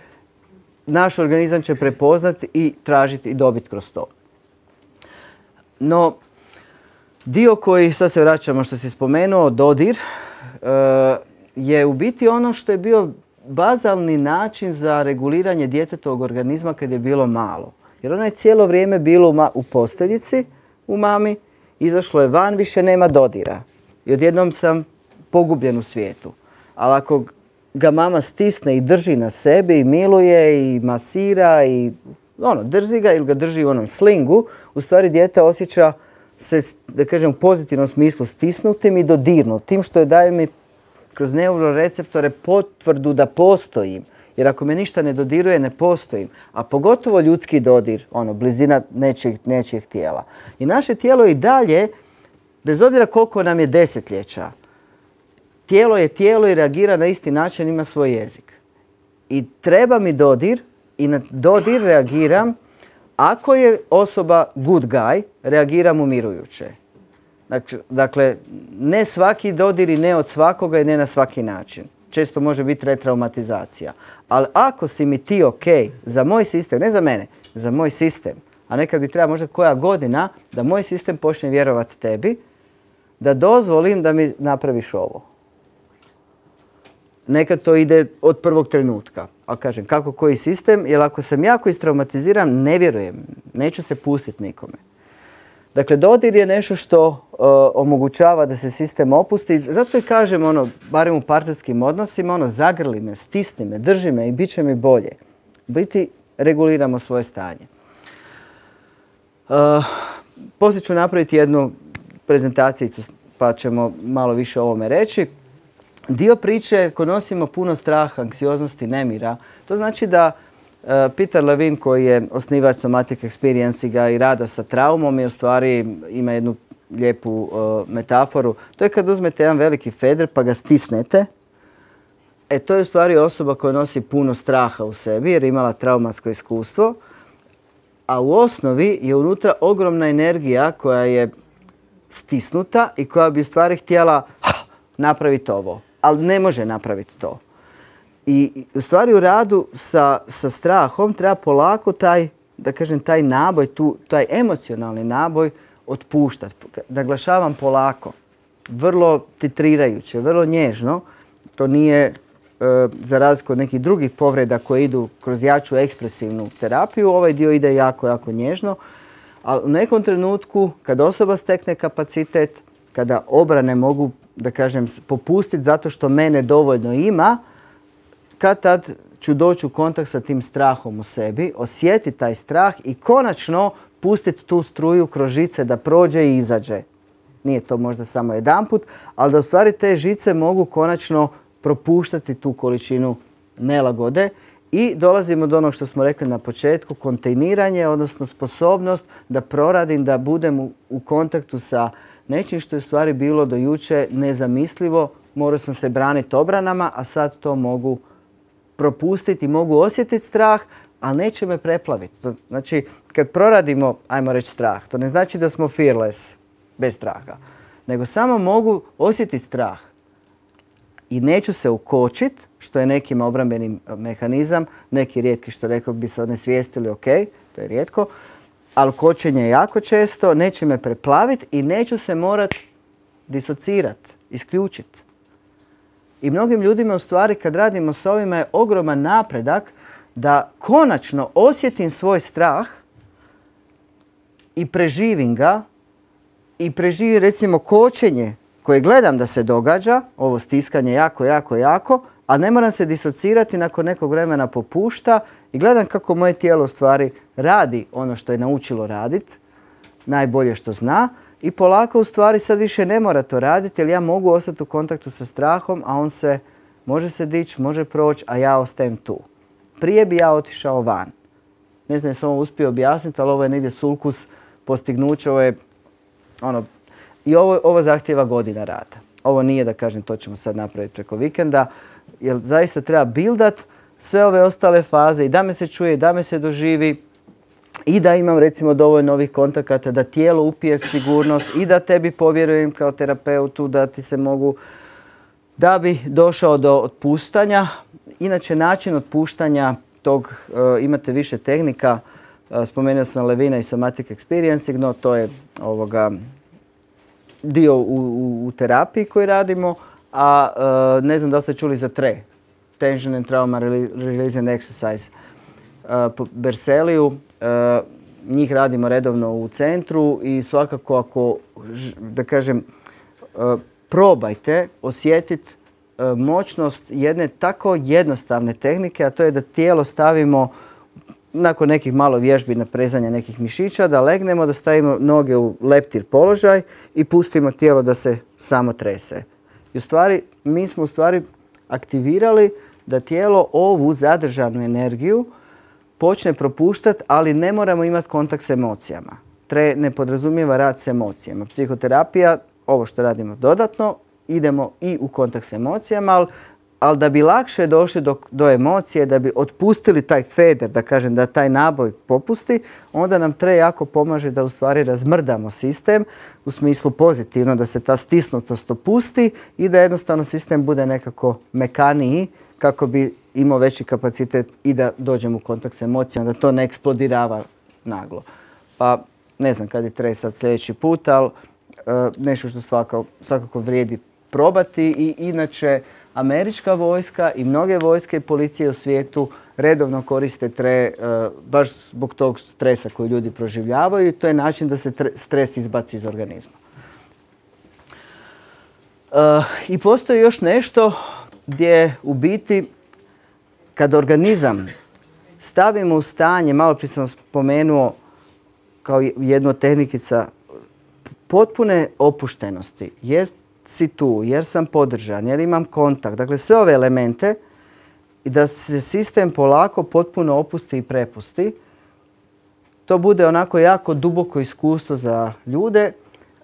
naš organizam će prepoznati i tražiti i dobiti kroz to. No, dio koji, sad se vraćamo što si spomenuo, dodir, je u biti ono što je bio bazalni način za reguliranje djetetovog organizma kad je bilo malo. Jer ona je cijelo vrijeme bilo u posteljici, u mami, izašlo je van, više nema dodira. I odjednom sam pogubljen u svijetu. Ali ako ga mama stisne i drži na sebi i miluje i masira i drži ga ili ga drži u onom slingu, u stvari dijete osjeća se, da kažem, u pozitivnom smislu stisnutim i dodirnutim, što je daje mi kroz neuroreceptore potvrdu da postojim. Jer ako me ništa ne dodiruje, ne postojim. A pogotovo ljudski dodir, blizina nečijeg tijela. I naše tijelo i dalje, bez obzira koliko nam je desetljeća, tijelo je tijelo i reagira na isti način, ima svoj jezik. I treba mi dodir i na dodir reagiram. Ako je osoba good guy, reagiram umirujuće. Dakle, ne svaki dodir i ne od svakoga i ne na svaki način. Često može biti retraumatizacija. Ali ako si mi ti ok za moj sistem, ne za mene, za moj sistem, a nekad bi treba možda koja godina da moj sistem počne vjerovati tebi, da dozvolim da mi napraviš ovo. Nekad to ide od prvog trenutka. Ali kažem, kako koji sistem, jer ako sam jako istraumatiziran, ne vjerujem, neću se pustiti nikome. Dakle, dodir je nešto što omogućava da se sistem opusti. Zato i kažem, barem u partnerskim odnosima, zagrli me, stisni me, drži me i bit će mi bolje. Biti reguliramo svoje stanje. Poslije ću napraviti jednu prezentacijicu pa ćemo malo više o ovome reći. Dio priče ko nosimo puno straha, anksioznosti, nemira. To znači da Peter Levine, koji je osnivač Somatic Experiencing i rada sa traumom, u stvari ima jednu lijepu metaforu. To je kad uzmete jedan veliki feder pa ga stisnete To je u stvari osoba koja nosi puno straha u sebi jer je imala traumatsko iskustvo, a u osnovi je unutra ogromna energija koja je stisnuta i koja bi u stvari htjela napraviti ovo, ali ne može napraviti to. I u stvari u radu sa strahom treba polako taj, da kažem, taj naboj, taj emocionalni naboj otpuštati. Naglašavam polako, vrlo titrirajuće, vrlo nježno. To nije za razliku od nekih drugih povreda koje idu kroz jaču ekspresivnu terapiju. Ovaj dio ide jako, jako nježno. Ali u nekom trenutku kad osoba stekne kapacitet, kada obrane mogu, da kažem, popustiti zato što mene dovoljno ima, kad tad ću doći u kontakt sa tim strahom u sebi, osjetiti taj strah i konačno pustiti tu struju kroz žice da prođe i izađe. Nije to možda samo jedanput, ali da u stvari te žice mogu konačno propuštati tu količinu nelagode i dolazimo do onog što smo rekli na početku, kontejniranje, odnosno sposobnost da proradim, da budem u kontaktu sa nečim što je u stvari bilo do juče nezamislivo. Morao sam se braniti obranama, a sad to mogu propustiti, mogu osjetiti strah, ali neće me preplaviti. Znači, kad proradimo, ajmo reći, strah, to ne znači da smo fearless, bez straha, nego samo mogu osjetiti strah. I neću se ukočiti, što je nekima obrambeni mehanizam, neki rijetki što rekao bi se onesvijestili, ok, to je rijetko, ali kočenje je jako često, neće me preplaviti i neću se morati disocirati, isključiti. I mnogim ljudima u stvari kad radimo s ovima je ogroman napredak da konačno osjetim svoj strah i preživim ga i preživim recimo kočenje koje gledam da se događa, ovo stiskanje jako, jako, jako, a ne moram se disocirati, nakon nekog vremena popušta i gledam kako moje tijelo u stvari radi ono što je naučilo raditi, najbolje što zna. I polako u stvari sad više ne mora to raditi jer ja mogu ostati u kontaktu sa strahom, a on se može se dići, može proći, a ja ostajem tu. Prije bi ja otišao van. Ne znam jesam ovo uspio objasniti, ali ovo je negdje sulkus postignuća. Ovo je i ovo zahtijeva godina rada. Ovo nije da kažem to ćemo sad napraviti preko vikenda, jer zaista treba bildat sve ove ostale faze i da me se čuje, da me se doživi, i da imam recimo dovoljno ovih kontakata, da tijelo upije sigurnost i da tebi povjerujem kao terapeutu da ti se mogu, da bi došao do otpuštanja. Inače način otpuštanja tog, imate više tehnika, spomenuo sam Levina i Somatic Experiencing, no to je dio u terapiji koji radimo, a ne znam da li ste čuli za TRE, Tension and Trauma Releasing Exercise, po Berseliju. Njih radimo redovno u centru i svakako ako, da kažem, probajte osjetiti moćnost jedne tako jednostavne tehnike, a to je da tijelo stavimo nakon nekih malo vježbi na prezanje nekih mišića, da legnemo, da stavimo noge u leptir položaj i pustimo tijelo da se samo trese. I u stvari, mi smo u stvari aktivirali da tijelo ovu zadržanu energiju počne propuštati, ali ne moramo imati kontakt s emocijama. TRE ne podrazumijeva rad s emocijama. Psihoterapija, ovo što radimo dodatno, idemo i u kontakt s emocijama, ali da bi lakše došli do emocije, da bi otpustili taj feder, da kažem, da taj naboj popusti, onda nam TRE jako pomaže da u stvari razmrdamo sistem u smislu pozitivno, da se ta stisnutost opusti i da jednostavno sistem bude nekako mekaniji kako bi imao veći kapacitet i da dođemo u kontakt s emocijama, da to ne eksplodirava naglo. Pa ne znam kad je TRE sad sljedeći put, ali nešto što svakako vrijedi probati. I inače američka vojska i mnoge vojske i policije u svijetu redovno koriste TRE baš zbog tog stresa koji ljudi proživljavaju i to je način da se stres izbaci iz organizma. I postoji još nešto gdje u biti kad organizam stavimo u stanje, malo prije sam spomenuo kao jednu od tehnikica, potpune opuštenosti, jer si tu, jer sam podržan, jer imam kontakt, dakle sve ove elemente i da se sistem polako potpuno opusti i prepusti, to bude onako jako duboko iskustvo za ljude.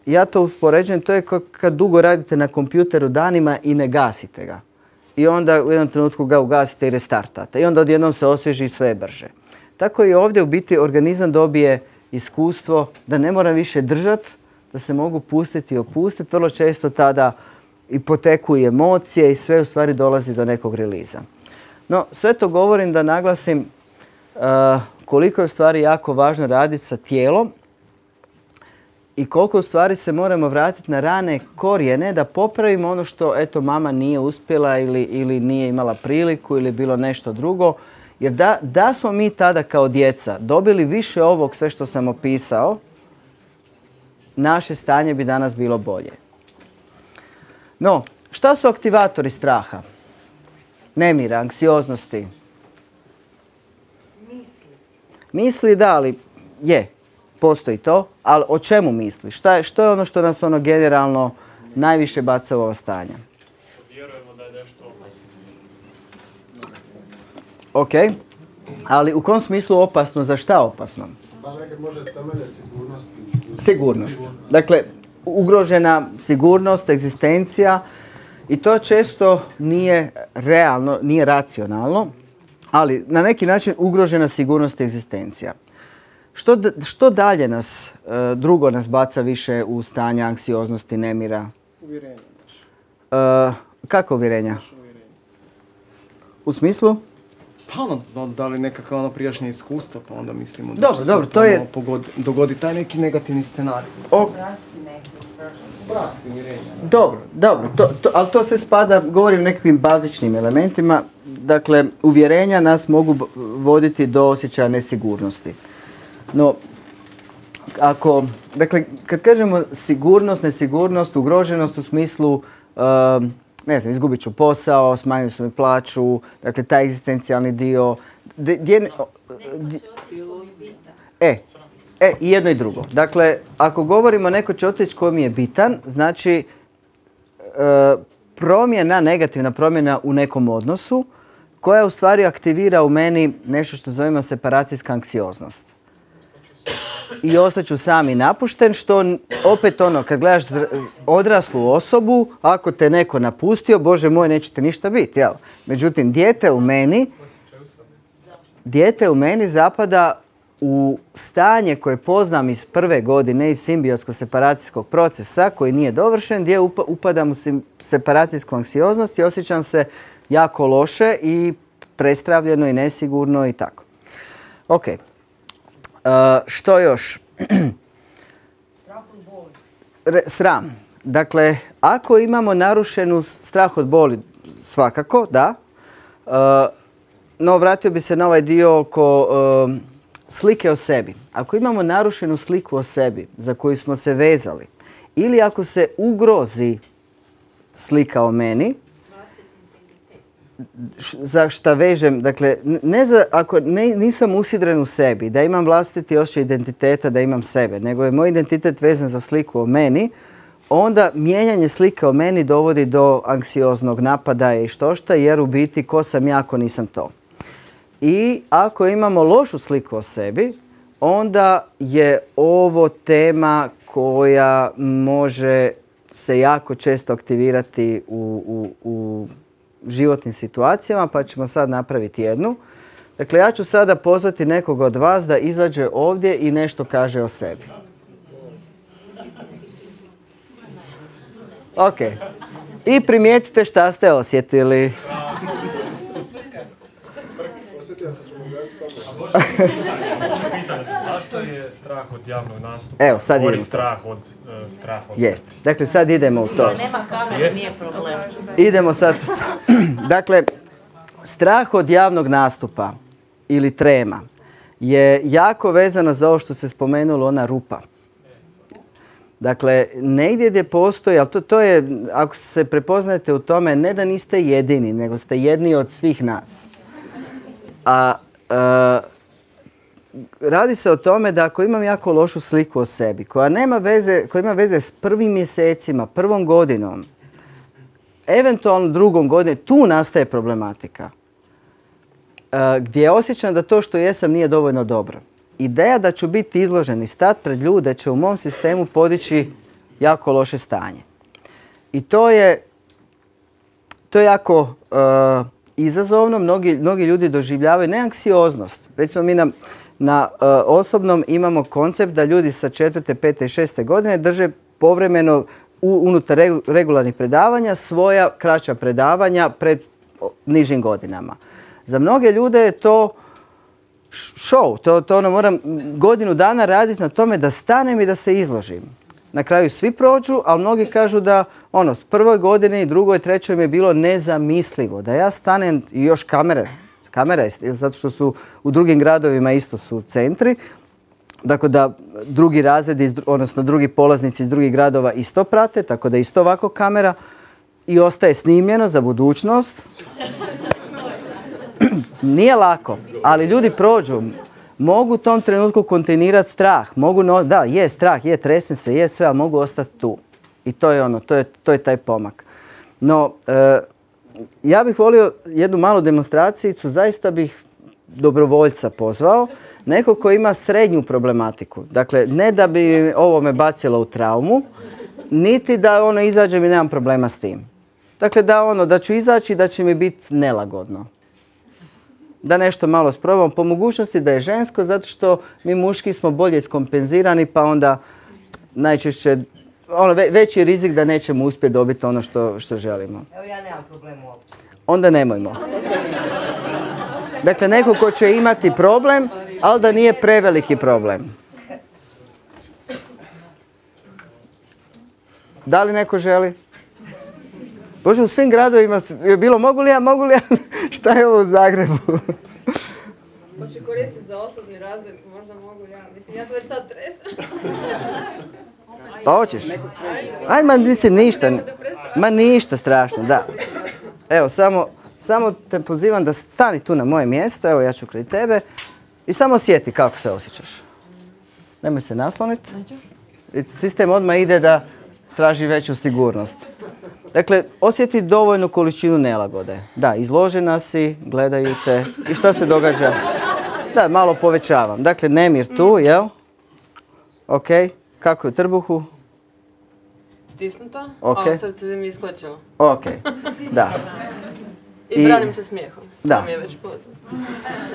Ja to uspoređujem, to je kad dugo radite na kompjuteru danima i ne gasite ga. i onda u jednom trenutku ga ugasite i restartate. I onda odjednom se osvježi sve brže. Tako i ovdje u biti organizam dobije iskustvo da ne moram više držati, da se mogu pustiti i opustiti. Vrlo često tada i poteku i emocije i sve u stvari dolazi do nekog reliza. No, sve to govorim da naglasim koliko je u stvari jako važno raditi sa tijelom i koliko u stvari se moramo vratiti na rane korijene da popravimo ono što eto mama nije uspjela ili nije imala priliku ili bilo nešto drugo. Jer da smo mi tada kao djeca dobili više ovog sve što sam opisao, naše stanje bi danas bilo bolje. No, šta su aktivatori straha? Nemira, anksioznosti? Misli da, ali postoji to, ali o čemu misli? Što je ono što nas generalno najviše baca u ova stanja? Vjerujemo da je nešto opasno. Ok, ali u kom smislu opasno? Za šta opasno? Pa nekad može temelje sigurnosti. Sigurnost. Dakle, ugrožena sigurnost, egzistencija i to često nije realno, nije racionalno, ali na neki način ugrožena sigurnost i egzistencija. Što dalje drugo nas baca više u stanje anksioznosti, nemira? Uvjerenje. Kako uvjerenja? U smislu? Pa da li nekakva prijašnje iskustva, pa onda mislimo da će se dogodi taj neki negativni scenarij. Obrasci uvjerenja. Dobro, ali to se spada, govorim o nekakvim bazičnim elementima. Dakle, uvjerenja nas mogu voditi do osjećaja nesigurnosti. No, dakle, kad kažemo sigurnost, nesigurnost, ugroženost u smislu, ne znam, izgubit ću posao, smanjili su mi plaću, dakle, taj egzistencijalni dio. I jedno i drugo. Dakle, ako govorimo neko će otići koji mi je bitan, znači negativna promjena u nekom odnosu koja u stvari aktivira u meni nešto što zovemo separacijska anksioznost. I ostaću sam i napušten, što opet kad gledaš odraslu osobu, ako te neko napustio, Bože moj, nećete ništa biti, jel? Međutim, dijete u meni zapada u stanje koje poznam iz prve godine iz simbiotsko-separacijskog procesa koji nije dovršen, gdje upadam u separacijsku anksioznost i osjećam se jako loše i prestravljeno i nesigurno i tako. Ok. Što još? Sram. Dakle, ako imamo narušenu strah od boli, svakako, da. No, vratio bi se na ovaj dio oko slike o sebi. Ako imamo narušenu sliku o sebi za koju smo se vezali ili ako se ugrozi slika o meni, za šta vežem, dakle, ako nisam usidren u sebi, da imam vlastiti osjećaj identiteta, da imam sebe, nego je moj identitet vezan za sliku o meni, onda mijenjanje slike o meni dovodi do anksioznog napadaja i štošta, jer u biti ko sam ja ako nisam to. I ako imamo lošu sliku o sebi, onda je ovo tema koja može se jako često aktivirati u životnim situacijama, pa ćemo sad napraviti jednu. Dakle, ja ću sada pozvati nekog od vas da izađe ovdje i nešto kaže o sebi. Ok. I primijetite šta ste osjetili. Zašto je strah od javnog nastupa? Evo, sad idemo. Strah od Jest. Dakle, sad idemo u to. Nema kamere, nije problem. Idemo sad. Dakle, strah od javnog nastupa ili trema je jako vezano za ovo što se spomenulo, ona rupa. Dakle, negdje gdje postoji, ali to je, ako se prepoznajete u tome, ne da niste jedini, nego ste jedni od svih nas. Radi se o tome da ako imam jako lošu sliku o sebi, koja ima veze s prvim mjesecima, prvom godinom, eventualno drugom godinom, tu nastaje problematika. Gdje osjećam da to što jesam nije dovoljno dobro. Ideja da ću biti izložen i stat pred ljude će u mom sistemu podići jako loše stanje. I to To je jako izazovno. Mnogi ljudi doživljavaju ne anksioznost. Recimo mi na osobnom imamo koncept da ljudi sa 4., 5. i 6. godine drže povremeno unutar regularnih predavanja svoja kraća predavanja pred nižim godinama. Za mnoge ljude je to show. To moram godinu dana raditi na tome da stanem i da se izložim. Na kraju svi prođu, ali mnogi kažu da s prvoj godini, drugoj, trećoj mi je bilo nezamislivo. Da ja stanem i još kamere, zato što su u drugim gradovima isto su centri. Dakle, da drugi razredi, odnosno drugi polaznici iz drugih gradova isto prate, tako da isto ovako kamera i ostaje snimljeno za budućnost. Nije lako, ali ljudi prođu. Mogu u tom trenutku kontinuirati strah. Da, je strah, je tresem se, je sve, ali mogu ostati tu. I to je to je taj pomak. No, ja bih volio jednu malu demonstracijicu, zaista bih dobrovoljca pozvao. Neko ko ima srednju problematiku. Dakle, ne da bi ovo me bacilo u traumu, niti da izađem i nemam problema s tim. Dakle, da ću izaći, da će mi biti nelagodno. Da nešto malo sprobam. Po mogućnosti da je žensko, zato što mi muški smo bolje iskompenzirani, pa onda najčešće veći rizik da nećemo uspjeti dobiti ono što želimo. Evo ja nemam problema uopće. Onda nemojmo. Dakle, neko ko će imati problem, ali da nije preveliki problem. Da li neko želi? Bože, u svim gradovima je bilo mogu li ja, šta je ovo u Zagrebu? Hoće koristiti za osobni razvoj, možda mogu ja. Mislim, ja sam već sad tresem. Pa hoćeš? Ajde, mislim, ništa. Ma ništa strašno, da. Evo, samo te pozivam da stani tu na moje mjesto, evo ja ću kraj tebe i samo osjeti kako se osjećaš. Nemoj se nasloniti. Sistem odmah ide da traži veću sigurnost. Dakle, osjeti dovoljnu količinu nelagode. Da, izložena si, gledaju te. I šta se događa? Da, malo povećavam. Dakle, nemir tu, jel? Ok. Kako je u trbuhu? Stisnuta, Ok. a srce bi mi iskočilo. Ok, da. I branim se smijehom. Da. To mi je već poznato.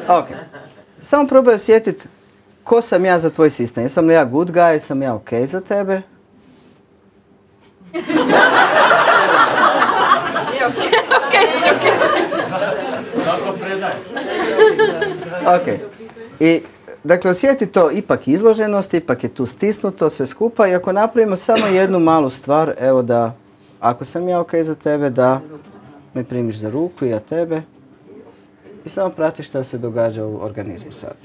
Ok. Samo probaj osjetiti ko sam ja za tvoj sistem. Jesam li ja good guy, jesam ja ok za tebe? Zato predaj. Ok. I, dakle, osjeti to ipak izloženost, ipak je tu stisnuto sve skupa i ako napravimo samo jednu malu stvar, evo da, ako sam ja ok za tebe, da me primiš za ruku i ja tebe i samo pratiš šta se događa u organizmu sad.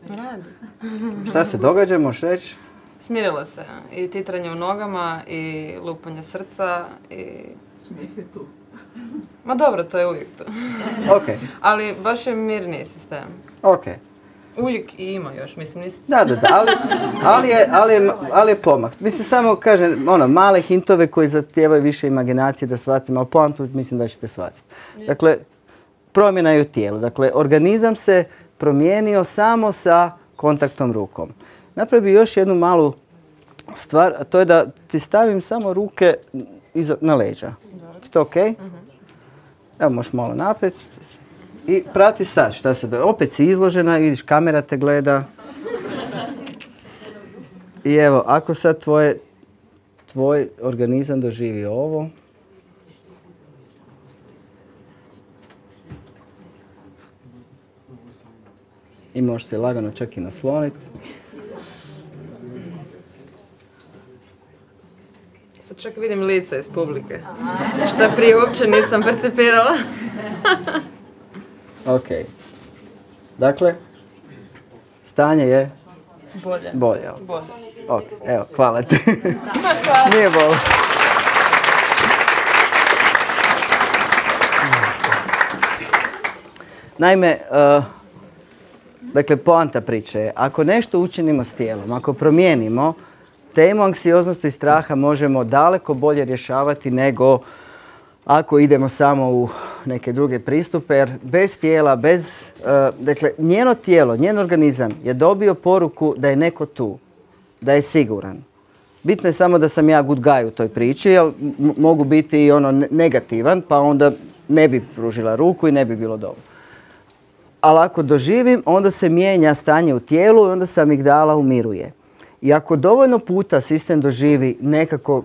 Radi. Šta se događa, možeš reći? Smirilo se. I titranje u nogama, i lupanje srca, i... Smijeh je tu. Ma dobro, to je uvijek tu. Ok. Ali baš je mirniji sistem. Ok. Uvijek i ima još, mislim, nisi... Da, ali je pomak. Mislim, samo kažem, male hintove koji zahtijevaju više imaginacije da shvatimo, ali poantu mislim da ćete shvatiti. Dakle, promjena je u tijelu. Dakle, organizam se promijenio samo sa kontaktom rukom. Napravi još jednu malu stvar, a to je da ti stavim samo ruke na leđa. Je to ok? Evo, možeš malo naprijed. I prati sad šta se događa. Opet si izložena, vidiš, kamera te gleda. I evo, ako sad tvoj organizam doživi ovo, i možeš se lagano čak i nasloniti. Sad čak vidim lice iz publike. Šta prije uopće nisam percipirala. Ok. Dakle, stanje je bolje. Bolje. Ok, evo, hvala ti. Nije bolo. Naime, dakle, poanta priče je, ako nešto učinimo s tijelom, ako promijenimo, temu anksioznosti i straha možemo daleko bolje rješavati nego ako idemo samo u neke druge pristupe, jer bez tijela, dakle, njeno tijelo, njen organizam je dobio poruku da je neko tu, da je siguran. Bitno je samo da sam ja good guy u toj priči, jer mogu biti i ono negativan, pa onda ne bi pružila ruku i ne bi bilo dobro. Ali ako doživim, onda se mijenja stanje u tijelu i onda se amigdala umiruje. I ako dovoljno puta sistem doživi nekako,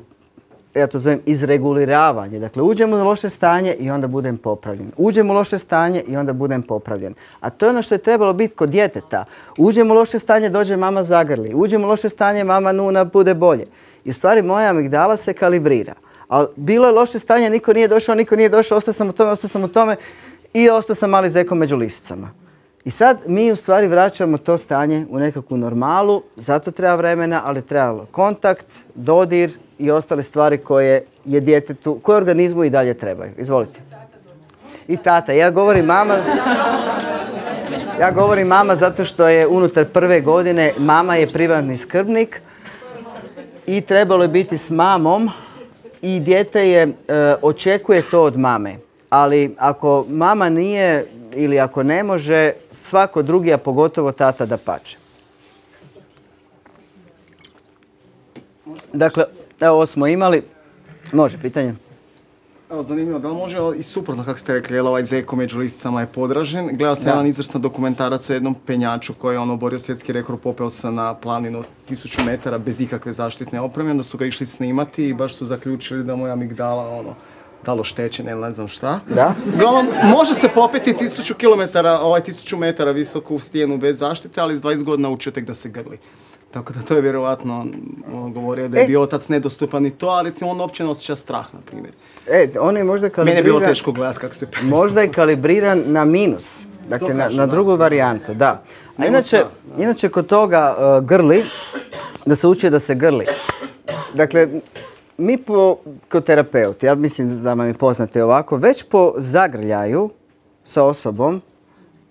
ja to zovem izreguliravanje, dakle uđem u loše stanje i onda budem popravljen. Uđem u loše stanje i onda budem popravljen. A to je ono što je trebalo biti kod djeteta. Uđem u loše stanje, dođe mama zagrli. Uđem u loše stanje, mama nuna, bude bolje. I u stvari moja amigdala se kalibrira. Ali bilo je loše stanje, niko nije došao, ostao sam u tome i ostao sam mali zeko među lisicama. I sad mi u stvari vraćamo to stanje u nekakvu normalu, zato treba vremena, ali treba kontakt, dodir i ostale stvari koje je djetetu, koje organizmu i dalje trebaju. Izvolite. I tata. Ja govorim mama zato što je unutar prve godine mama je privatni skrbnik i trebalo je biti s mamom i dijete očekuje to od mame. Ali ako mama nije ili ako ne može, svako drugi, a pogotovo tata dapače. Dakle, evo ovo smo imali. Može, pitanje? Evo, zanimljivo, da li može i suprotno, kako ste rekli, jer ovaj zeko među lisicama je podražen. Gledao sam jedan izvrstan dokumentarac o jednom penjaču koji je oborio svjetski rekord, popeo se na planinu 1000 metara bez ikakve zaštitne opreme, onda su ga išli snimati i baš su zaključili da mu je amigdala da li oštećen ili ne znam šta. Da? Uglavnom, može se popeti 1000 metara visoku stijenu bez zaštite, ali s 20 godina učio tek da se grli. Tako da to je vjerovatno govorio da je bio otac nedostupan i to, a recimo on uopće ne osjeća strah, na primjer. On je možda kalibriran... Mene je bilo teško gledati kako se... Možda je kalibriran na minus. Dakle, na drugu varijantu, da. A inače kod toga grli, da se uči da se grli. Dakle, mi kod terapeuti, ja mislim da vam je poznate ovako, već po zagrljaju sa osobom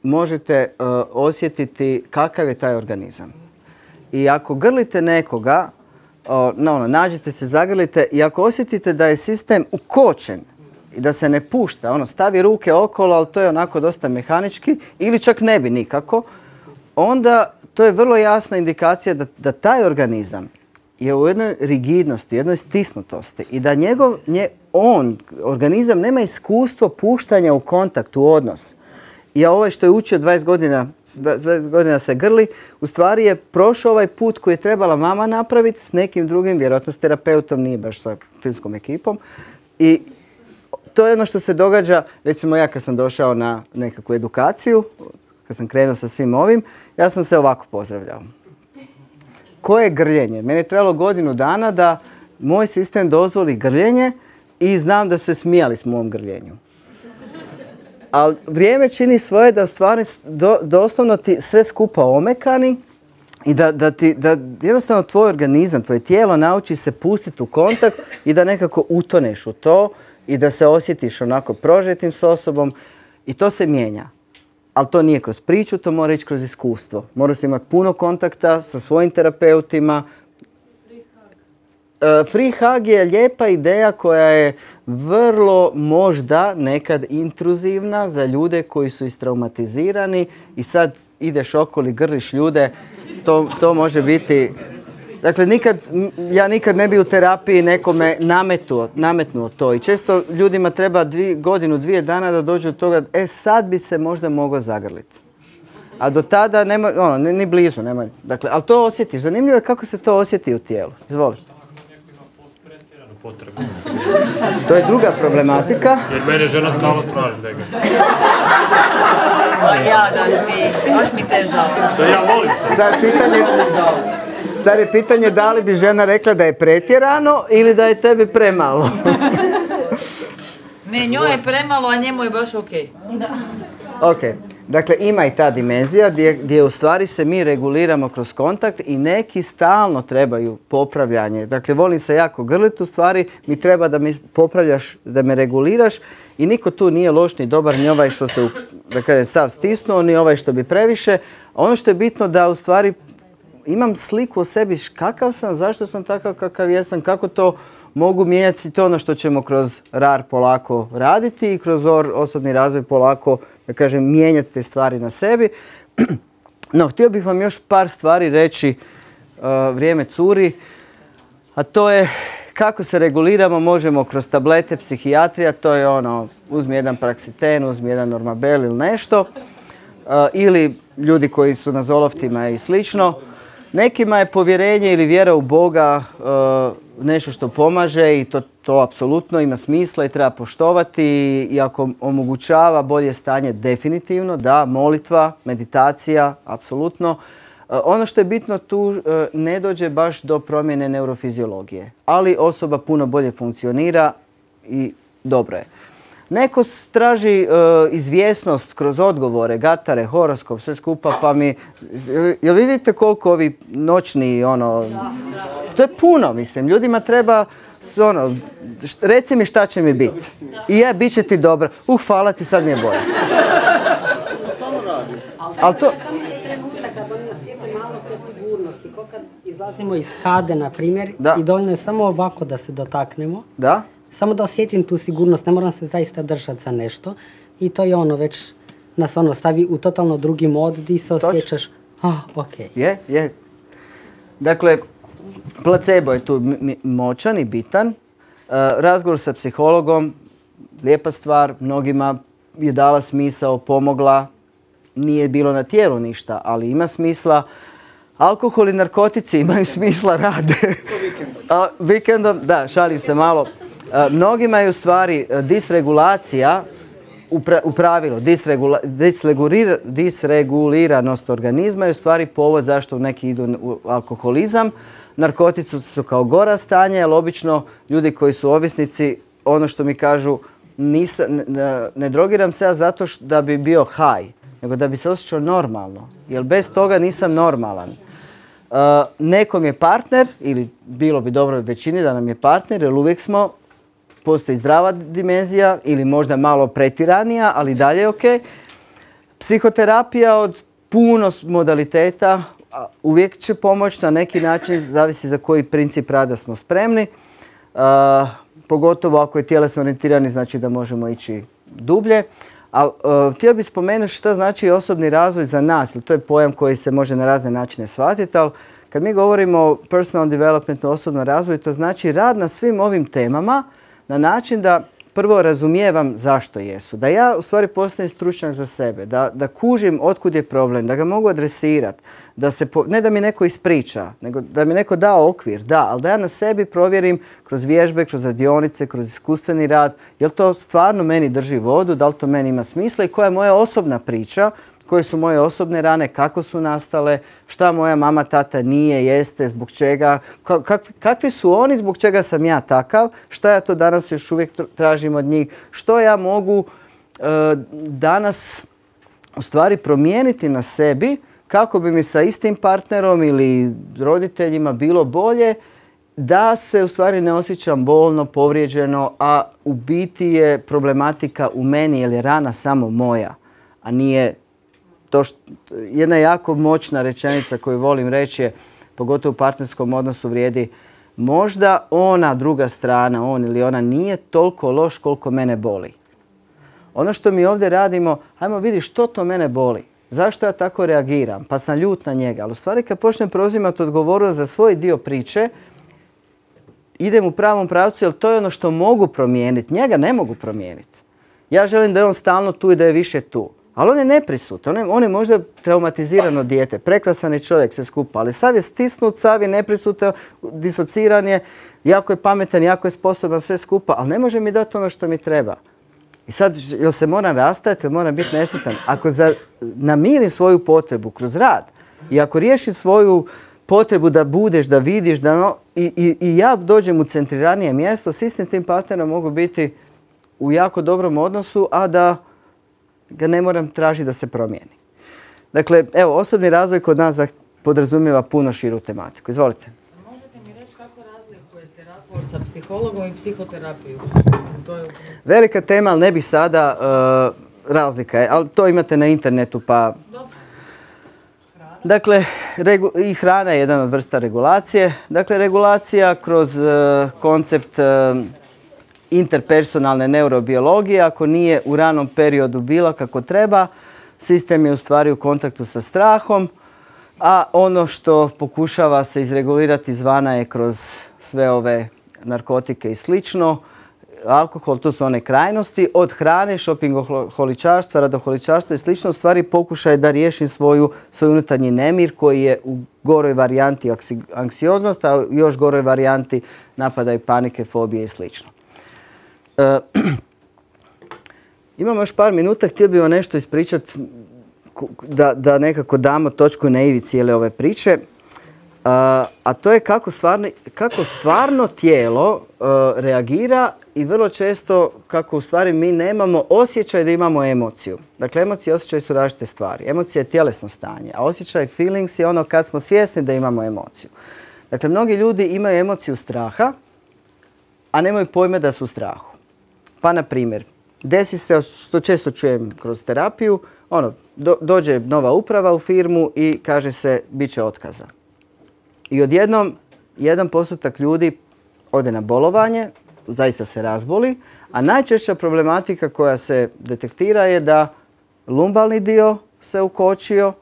možete osjetiti kakav je taj organizam. I ako grlite nekoga, nađete se, zagrlite i ako osjetite da je sistem ukočen i da se ne pušta, stavi ruke okolo, ali to je onako dosta mehanički ili čak ne bi nikako, onda to je vrlo jasna indikacija da taj organizam je u jednoj rigidnosti, jednoj stisnutosti i da organizam nema iskustvo puštanja u kontakt, u odnos. I ovaj što je učio 20 godina se grli, u stvari je prošao ovaj put koji je trebala mama napraviti s nekim drugim, vjerojatno s terapeutom, nije baš sa filmskom ekipom. I to je ono što se događa, recimo ja kad sam došao na nekakvu edukaciju, kad sam krenuo sa svim ovim, ja sam se ovako pozdravljao. Koje je grljenje? Meni je trebalo godinu dana da moj sistem dozvoli grljenje i znam da se smijali s mojom grljenju. Ali vrijeme čini svoje da u stvari doslovno ti sve skupa omekani i da jednostavno tvoj organizam, tvoje tijelo nauči se pustiti u kontakt i da nekako utoneš u to i da se osjetiš onako prožetim s osobom i to se mijenja. Ali to nije kroz priču, to mora ići kroz iskustvo. Mora se imati puno kontakta sa svojim terapeutima. Free hug je lijepa ideja koja je vrlo možda nekad intruzivna za ljude koji su istraumatizirani i sad ideš okolo i grliš ljude. To može biti... Dakle, ja nikad ne bi u terapiji nekome nametnuo to i često ljudima treba godinu, 2 dana da dođu do toga sad bi se možda mogao zagrliti. A do tada nema, ni blizu nema. Dakle, ali to osjetiš. Zanimljivo je kako se to osjeti u tijelu. Izvoli. To je druga problematika. Jer mene žena stalno traži da ga. Jadan ti, baš mi te žao. To ja volim to. Sad je pitanje da li bi žena rekla da je pretjerano ili da je tebi premalo. Ne, njoj je premalo, a njemu je baš okej. Ok, dakle ima i ta dimenzija gdje u stvari se mi reguliramo kroz kontakt i neki stalno trebaju popravljanje. Dakle, volim se jako grliti, u stvari mi treba da mi popravljaš, da me reguliraš i niko tu nije loš ni dobar, ni ovaj što se, da kažem, sav stisnuo, ni ovaj što bi previše. Ono što je bitno da u stvari imam sliku o sebi kakav sam, zašto sam takav kakav jesam, kako to mogu mijenjati, to ono što ćemo kroz RAR polako raditi i kroz osobni razvoj polako, da kažem, mijenjati te stvari na sebi. No, htio bih vam još par stvari reći, vrijeme curi. A to je kako se reguliramo, možemo kroz tablete, psihijatrija, to je ono, uzmi jedan Praxiten, uzmi jedan Normabel ili nešto. Ili ljudi koji su na zoloftima i slično. Nekima je povjerenje ili vjera u Boga nešto što pomaže i to apsolutno ima smisla i treba poštovati i ako omogućava bolje stanje definitivno, da, molitva, meditacija, apsolutno. Ono što je bitno tu ne dođe baš do promjene neurofiziologije, ali osoba puno bolje funkcionira i dobro je. Neko traži izvjesnost kroz odgovore, gatare, horoskop, sve skupa, pa mi... Jel vi vidite koliko ovi noćni, ono... To je puno, mislim. Ljudima treba, ono, reci mi šta će mi biti. I bit će ti dobro. Hvala ti, sad mi je bolje. Ali to... Kad izlazimo iz kade, na primjer, i dovoljno je samo ovako da se dotaknemo. Da? Samo da osjetim tu sigurnost, ne moram se zaista držati za nešto. I to je ono, već nas ono stavi u totalno drugi mod gdje se osjećaš, okej. Je. Dakle, placebo je tu moćan i bitan. Razgovor sa psihologom, lijepa stvar, mnogima je dala smisao, pomogla. Nije bilo na tijelu ništa, ali ima smisla. Alkohol i narkotici imaju smisla, rade. Vikendom, da, šalim se malo. Mnogima je u stvari disregulacija, u pravilu disreguliranost organizma je u stvari povod zašto neki idu u alkoholizam. Narkotici su kao gora stanja, jer obično ljudi koji su ovisnici, ono što mi kažu, ne drogiram se ja zato da bi bio high, nego da bi se osjećao normalno, jer bez toga nisam normalan. Nekom je partner, ili bilo bi dobro većini da nam je partner, jer uvijek postoji zdrava dimenzija ili možda malo pretiranija, ali dalje je ok. Psihoterapija od puno modaliteta uvijek će pomoći na neki način, zavisi za koji princip rada smo spremni. Pogotovo ako je tjelesno orijentirani, znači da možemo ići dublje. Ali htio bih spomenuti što znači osobni razvoj za nas, to je pojam koji se može na razne načine shvatiti, ali kad mi govorimo o personal developmentu, osobnom razvoju, to znači rad na svim ovim temama na način da prvo razumijevam zašto jesu, da ja u stvari postanem stručnjak za sebe, da kužim otkud je problem, da ga mogu adresirati, ne da mi neko ispriča, nego da mi neko da okvir, da, ali da ja na sebi provjerim kroz vježbe, kroz radionice, kroz iskustveni rad, jel to stvarno meni drži vodu, da li to meni ima smisla i koja je moja osobna priča, koje su moje osobne rane, kako su nastale, šta moja mama, tata nije, jeste, zbog čega, kakvi su oni, zbog čega sam ja takav, šta ja to danas još uvijek tražim od njih, što ja mogu danas u stvari promijeniti na sebi kako bi mi sa istim partnerom ili roditeljima bilo bolje, da se u stvari ne osjećam bolno, povrijeđeno, a u biti je problematika u meni jer je rana samo moja, a nije to što, jedna jako moćna rečenica koju volim reći je, pogotovo u partnerskom odnosu vrijedi, možda ona druga strana, on ili ona nije toliko loš koliko mene boli. Ono što mi ovdje radimo, ajmo vidi što to mene boli. Zašto ja tako reagiram? Pa sam ljut na njega. Ali u stvari kad počnem preuzimati odgovornost za svoj dio priče, idem u pravom pravcu jer to je ono što mogu promijeniti. Njega ne mogu promijeniti. Ja želim da je on stalno tu i da je više tu. Ali on je neprisutan. On je možda traumatizirano dijete. Prekrasan je čovjek, sve skupa. Ali sav je stisnut, sav je neprisutan, disociran je, jako je pametan, jako je sposoban, sve skupa. Ali ne može mi dati ono što mi treba. I sad, jel se moram rastajati, jel moram biti nesretan? Ako namirim svoju potrebu kroz rad i ako riješim svoju potrebu da budeš, da vidiš, i ja dođem u centriranije mjesto, s istim tim partnerom mogu biti u jako dobrom odnosu, a da ga ne moram tražiti da se promijeni. Dakle, evo, osobni razvoj kod nas podrazumijeva puno širu tematiku. Izvolite. Možete mi reći kako razlikujete razgovor sa psihologom i psihoterapiju? Velika tema, ali ne bih sada, razlika je, ali to imate na internetu pa... Dakle, i hrana je jedan od vrsta regulacije. Dakle, regulacija kroz koncept interpersonalne neurobiologije, ako nije u ranom periodu bila kako treba, sistem je u stvari u kontaktu sa strahom A ono što pokušava se izregulirati izvana je kroz sve ove narkotike i slično. Alkohol, to su one krajnosti, od hrane, šopingoholičarstva, radoholičarstva i slično, stvari pokušaj da riješim svoj unutarnji nemir koji je u goroj varijanti anksioznost, a u još goroj varijanti napada i panike, fobije i slično. Imamo još par minuta, htio bih vam nešto ispričati da nekako damo točku na ivi cijele ove priče. A to je kako stvarno tijelo reagira i vrlo često kako u stvari mi nemamo osjećaj da imamo emociju. Dakle, emocije i osjećaj su različite stvari. Emocija je tjelesno stanje, a osjećaj, feelings je ono kad smo svjesni da imamo emociju. Dakle, mnogi ljudi imaju emociju straha, a nemaju pojma da su u strahu. Pa, na primjer, desi se, što često čujem kroz terapiju, dođe nova uprava u firmu i kaže se bit će otkaza. I odjednom 1% ljudi ode na bolovanje, zaista se razboli, a najčešća problematika koja se detektira je da lumbalni dio se ukočio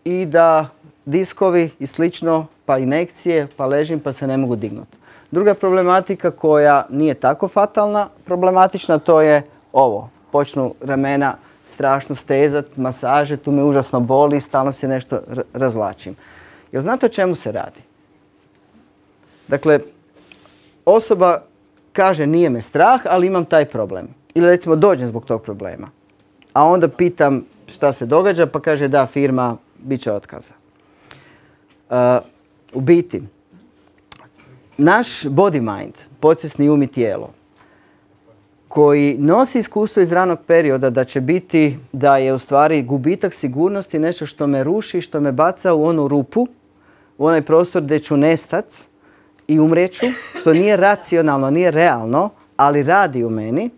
i da diskovi i slično, pa inekcije, pa ležim pa se ne mogu dignuti. Druga problematika koja nije tako fatalna, problematična, to je ovo. Počnu ramena strašno stezat, masaže, tu me užasno boli, stalno se nešto razvlačim. Jel znate o čemu se radi? Dakle, osoba kaže nije me strah, ali imam taj problem. Ili recimo dođem zbog tog problema. A onda pitam šta se događa, pa kaže da, firma, bit će otkaza. U biti, naš body mind, podsvjesni um i tijelo, koji nosi iskustvo iz ranog perioda da će biti, da je u stvari gubitak sigurnosti nešto što me ruši, što me baca u onu rupu, u onaj prostor gdje ću nestat i umreću, što nije racionalno, nije realno, ali radi u meni,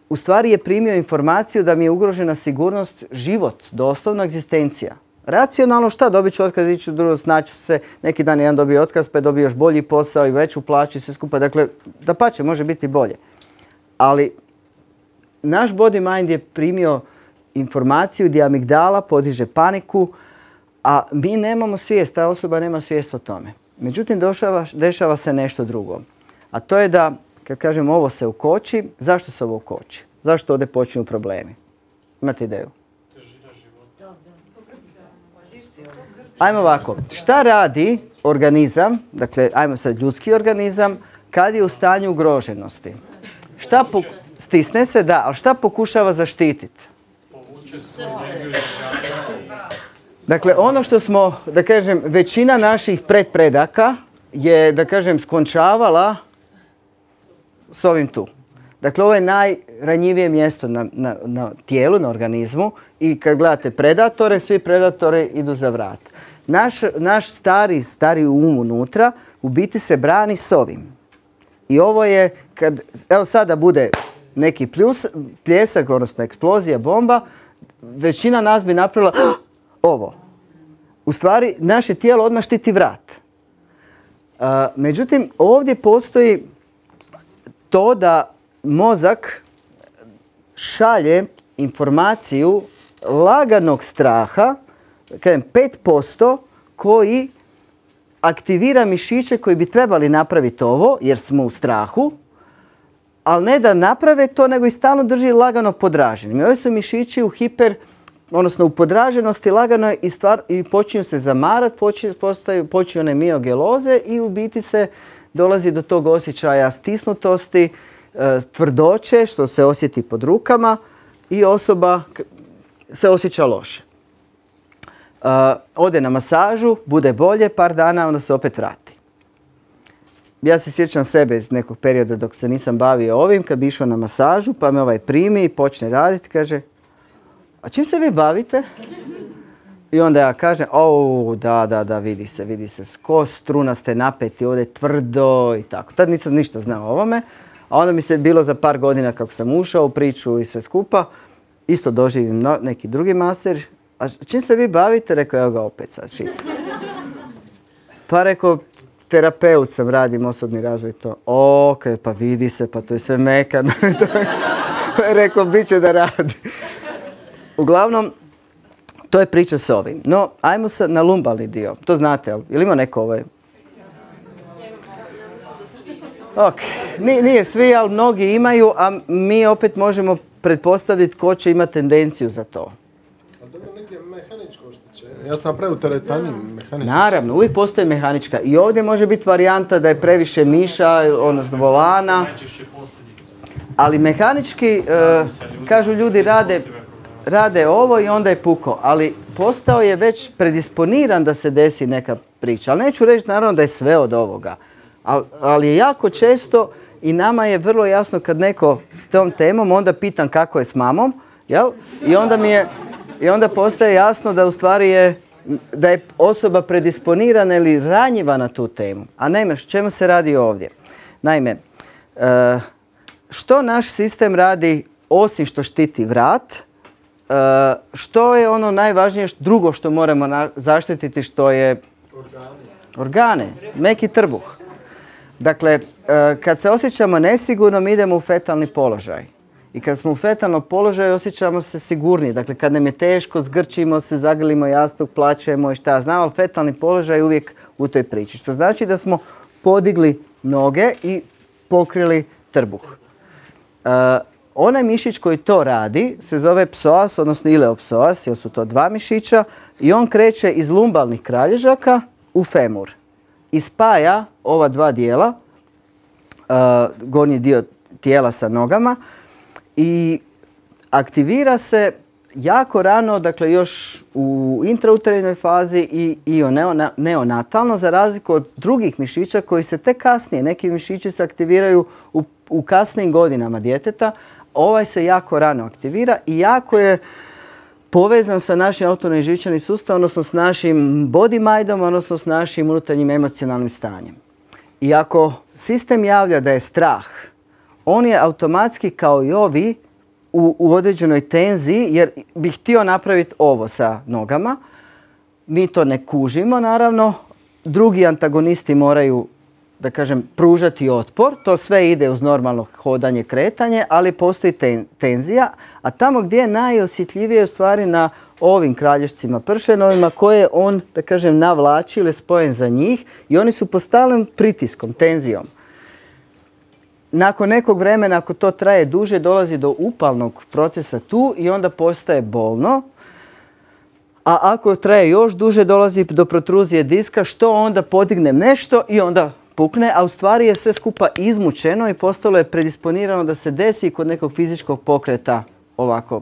u stvari je primio informaciju da mi je ugrožena sigurnost, život, doslovno egzistencija. Racionalno šta, dobit ću otkaz, ići drugo, snaću se, neki dan jedan dobio otkaz, pa je dobio još bolji posao i veću plaću i sve skupa. Dakle, dapače, može biti bolje. Ali naš body mind je primio informaciju gdje amigdala podiže paniku, a mi nemamo svijest, ta osoba nema svijest o tome. Međutim, dešava se nešto drugo. A to je da, kad kažem ovo se ukoči, zašto se ovo ukoči? Zašto ovdje počinju problemi? Imate ideju? Ajmo ovako, šta radi organizam, dakle, ajmo sad ljudski organizam, kad je u stanju ugroženosti? Stisne se, da, ali šta pokušava zaštititi? Dakle, ono što smo, da kažem, većina naših predaka je, da kažem, skončavala s ovim tu. Dakle, ovo je najranjivije mjesto na tijelu, na organizmu i kad gledate predatore, svi predatori idu za vrat. Naš stari um unutra u biti se brani s ovim. I ovo je, evo sada bude neki pljesak, odnosno eksplozija, bomba, većina nas bi napravila ovo. U stvari, naše tijelo odmah štiti vrat. Međutim, ovdje postoji to da mozak šalje informaciju laganog straha, kažem 5%, koji aktivira mišiće koji bi trebali napraviti ovo, jer smo u strahu, ali ne da naprave to, nego i stalno drži lagano podraženim. I ovi su mišići u odnosno u podraženosti lagano i počinju se zamarati, počinju one miogeloze i u biti se dolazi do tog osjećaja stisnutosti, tvrdoće, što se osjeti pod rukama i osoba se osjeća loše. Ode na masažu, bude bolje, par dana, onda se opet vrati. Ja se sjećam sebe iz nekog perioda dok se nisam bavio ovim, kad bi išao na masažu, pa me ovaj primi i počne raditi, kaže, a čim se vi bavite? I onda ja kažem, da, vidi se, ko strunaste napeti, ovdje je tvrdo i tako. Tad nisam ništa znao o ovome, a onda mi se bilo za par godina kako sam ušao u priču i sve skupa, isto doživim neki drugi master. A čim se vi bavite? Rekao, evo ga opet sad šit. Pa rekao, terapeut sam, radim osobni razvoj to. Pa vidi se, pa to je sve mekano. Rekao, bit će da radi. Uglavnom, To je priča s ovim. No, ajmo sad na lumbalni dio. To znate, ili ima neko ovaj? Ok, nije svi, ali mnogi imaju, a mi opet možemo pretpostaviti ko će imati tendenciju za to. A dobro, negdje mehaničko oštećenje. Ja sam napravio teretani mehaničko. Naravno, uvijek postoji mehanička. I ovdje može biti varijanta da je previše miša, odnosno volana. Ali mehanički, kažu ljudi, rade ovo i onda je puko. Ali postao je već predisponiran da se desi neka priča. Ali neću reći naravno da je sve od ovoga. Ali je jako često i nama je vrlo jasno kad neko s tom temom, onda pitam kako je s mamom, jel? I onda postaje jasno da u stvari da je osoba predisponirana ili ranjiva na tu temu. A naime, čemu se radi ovdje? Naime, što naš sistem radi osim što štiti vrat, što je ono najvažnije drugo što moramo zaštititi, što je organe, meki trbuh. Dakle, kad se osjećamo nesigurno, mi idemo u fetalni položaj. I kad smo u fetalnom položaju, osjećamo se sigurniji. Dakle, kad nam je teško, zgrčimo se, zagrlimo jastuk, plačemo i šta ja znam, ali fetalni položaj je uvijek u toj priči. Što znači da smo podigli noge i pokrili trbuh. Onaj mišić koji to radi se zove psoas, odnosno ileopsoas, jer su to dva mišića, i on kreće iz lumbalnih kralježaka u femur. I spaja ova dva dijela, gornji dio tijela sa nogama, i aktivira se jako rano, dakle još u intrauterinoj fazi i neonatalno, za razliku od drugih mišića koji se tek kasnije, neki mišići se aktiviraju u kasnijim godinama djeteta, ovaj se jako rano aktivira i jako je povezan sa našim autonomnim živčanim sustavom, odnosno s našim body mindom, odnosno s našim unutarnjim emocionalnim stanjem. I ako sistem javlja da je strah, on je automatski kao i ovi u određenoj tenziji, jer bi htio napraviti ovo sa nogama. Mi to ne kužimo, naravno. Drugi antagonisti moraju, da kažem, pružati otpor. To sve ide uz normalno hodanje, kretanje, ali postoji tenzija. A tamo gdje je najosjetljivije u stvari na ovim kralješcima pršenovima koje on, da kažem, navlači ili spojen za njih i oni su pod stalnim pritiskom, tenzijom. Nakon nekog vremena, ako to traje duže, dolazi do upalnog procesa tu i onda postaje bolno. A ako traje još duže, dolazi do protruzije diska, što onda podignem nešto i onda pukne, a u stvari je sve skupa izmučeno i postalo je predisponirano da se desi kod nekog fizičkog pokreta ovako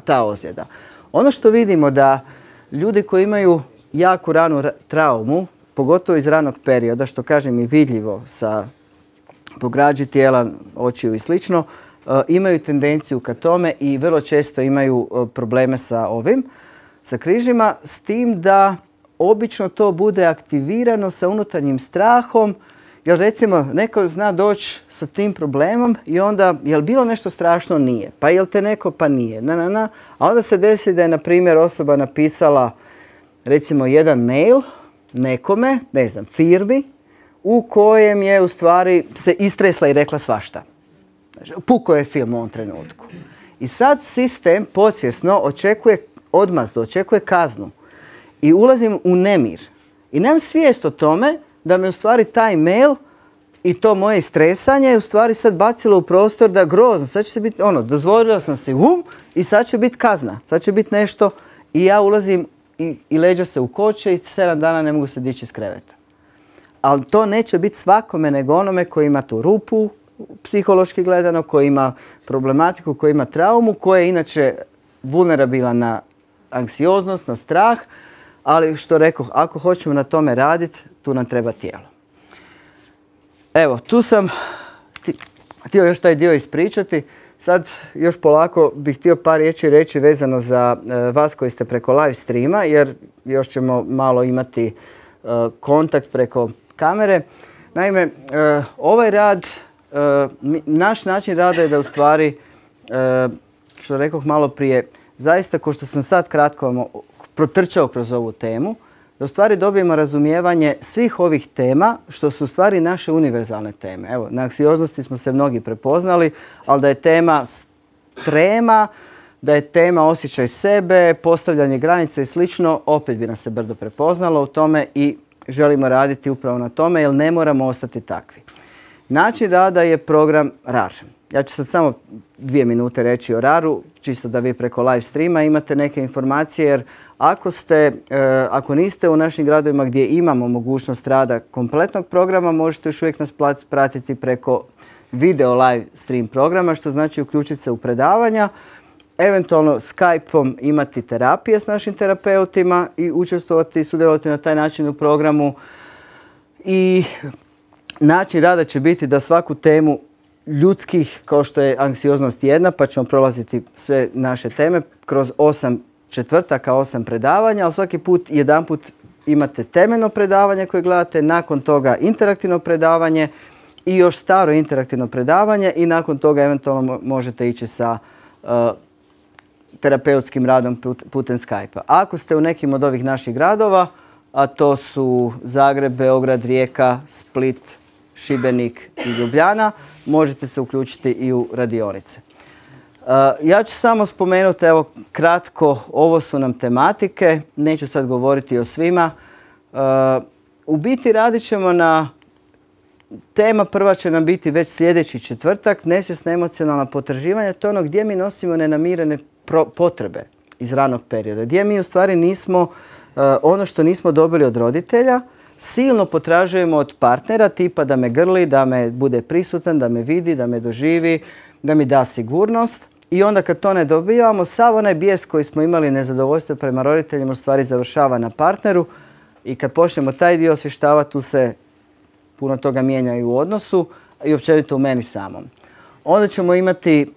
ta ozljeda. Ono što vidimo da ljudi koji imaju jako ranu traumu, pogotovo iz ranog perioda, što kažem i vidljivo sa po građi tijela, očiju i slično, imaju tendenciju ka tome i vrlo često imaju probleme sa sa križima, s tim da obično to bude aktivirano sa unutarnjim strahom, jer recimo neko zna doći sa tim problemom i onda, jel bilo nešto strašno? Nije. Pa jel te neko? Pa nije. A onda se desi da je, na primjer, osoba napisala recimo jedan mail nekome, ne znam, firmi, u kojem je u stvari se istresla i rekla svašta. Puko je film u ovom trenutku. I sad sistem podsvjesno očekuje odmazdu, očekuje kaznu. I ulazim u nemir. I nemam svijest o tome da me u stvari taj mail i to moje stresanje je u stvari sad bacilo u prostor da grozno. Sad će se biti, dozvolila sam si i sad će biti kazna. Sad će biti nešto i ja ulazim i leđa se ukoče i 7 dana ne mogu se dići iz kreveta. Ali to neće biti svakome nego onome koji ima tu rupu, psihološki gledano, koji ima problematiku, koji ima traumu, koji je inače vulnerabilan na anksioznost, na strah, ali što rekoh, ako hoćemo na tome raditi, tu nam treba tijelo. Evo, tu sam htio još taj dio ispričati. Sad još polako bih htio par riječi reći vezano za vas koji ste preko live streama, jer još ćemo malo imati kontakt preko kamere. Naime, ovaj rad, naš način rada je da u stvari, što rekoh malo prije, zaista ko što sam sad kratko protrčao kroz ovu temu, da u stvari dobijemo razumijevanje svih ovih tema, što su u stvari naše univerzalne teme. Evo, na anksioznosti smo se mnogi prepoznali, ali da je tema trema, Da je tema osjećaj sebe, postavljanje granica i slično, opet bi nas se brdo prepoznalo u tome i želimo raditi upravo na tome jer ne moramo ostati takvi. Način rada je program RAR. Ja ću sad samo 2 minute reći o RAR-u, čisto da vi preko live streama imate neke informacije jer ako niste u našim gradovima gdje imamo mogućnost rada kompletnog programa, možete još uvijek nas pratiti preko video live stream programa, što znači uključiti se u predavanja, eventualno Skype-om imati terapije s našim terapeutima i učestvovati i sudjelovati na taj način u programu. I način rada će biti da svaku temu ljudskih, kao što je anksioznost jedna, pa ćemo prolaziti sve naše teme kroz 8 četvrtaka, 8 predavanja, ali svaki put jedanput imate temeljno predavanje koje gledate, nakon toga interaktivno predavanje i još staro interaktivno predavanje i nakon toga eventualno možete ići sa terapeutskim radom putem Skype-a. Ako ste u nekim od ovih naših gradova, a to su Zagreb, Beograd, Rijeka, Split, Šibenik i Ljubljana, možete se uključiti i u radionice. Ja ću samo spomenuti, evo kratko, ovo su nam tematike, neću sad govoriti o svima. U biti radit ćemo na, tema prva će nam biti već sljedeći četvrtak, nesvjesna emocionalna potraživanja, to je ono gdje mi nosimo nenamirene potrebe iz ranog perioda, gdje mi u stvari nismo, ono što nismo dobili od roditelja, silno potražujemo od partnera, tipa da me grli, da me bude prisutan, da me vidi, da me doživi, da mi da sigurnost. I onda kad to ne dobivamo, sav onaj bijes koji smo imali, nezadovoljstvo prema roditeljima, u stvari završava na partneru. I kad počnemo taj dio osvještavati, tu se puno toga mijenja i u odnosu i općenito u meni samom. Onda ćemo imati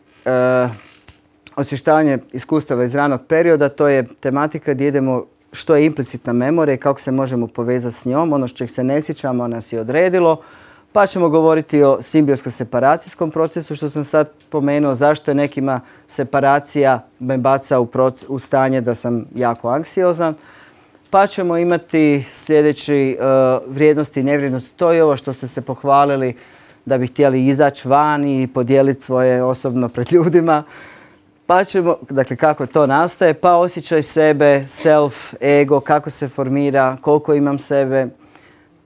osvještavanje iskustava iz ranog perioda, to je tematika gdje idemo što je implicitna memorija i kako se možemo povezati s njom, ono što čeg se ne sjećamo, nas je odredilo. Pa ćemo govoriti o simbiotsko-separacijskom procesu, što sam sad pomenuo, zašto je nekima separacija me baca u stanje da sam jako anksiozan. Pa ćemo imati sljedeći vrijednosti i nevrijednosti. To je ovo što ste se pohvalili da bi htjeli izaći van i podijeliti svoje osobno pred ljudima. Pa ćemo, dakle kako to nastaje, pa osjećaj sebe, self, ego, kako se formira, koliko imam sebe.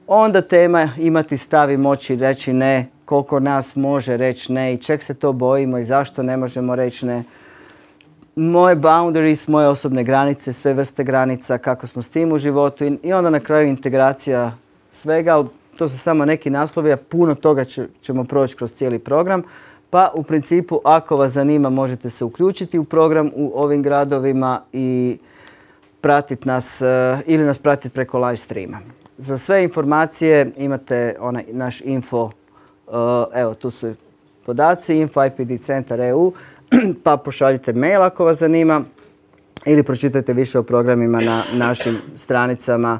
Onda tema imati stav i moći reći ne, koliko nas može reći ne i čeg se to bojimo i zašto ne možemo reći ne. Moje boundaries, moje osobne granice, sve vrste granica, kako smo s tim u životu i onda na kraju integracija svega, ali to su samo neki naslovi, a puno toga ćemo proći kroz cijeli program. Pa u principu, ako vas zanima, možete se uključiti u program u ovim gradovima i pratiti nas ili nas pratiti preko live streama. Za sve informacije imate onaj naš info, evo tu su podaci, info.ipdcentar.eu, pa pošaljite mail ako vas zanima ili pročitajte više o programima na našim stranicama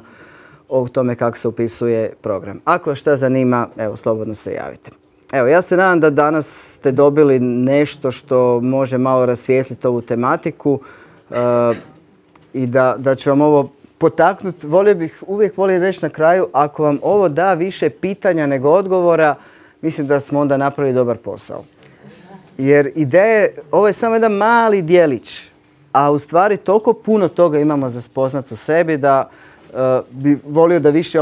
o tome kako se upisuje program. Ako vas šta zanima, evo slobodno se javite. Evo, ja se nadam da danas ste dobili nešto što može malo rasvijetliti ovu tematiku i da će vam ovo potaknuti. Uvijek volim reći na kraju, ako vam ovo da više pitanja nego odgovora, mislim da smo onda napravili dobar posao. Jer ideje, ovo je samo jedan mali dijelić, a u stvari toliko puno toga imamo za spoznat u sebi da bi volio da više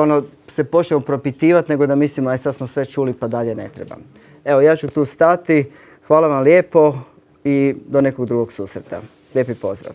se počnemo propitivati nego da mislimo aj sad smo sve čuli pa dalje ne trebam. Evo, ja ću tu stati. Hvala vam lijepo i do nekog drugog susreta. Lijepi pozdrav.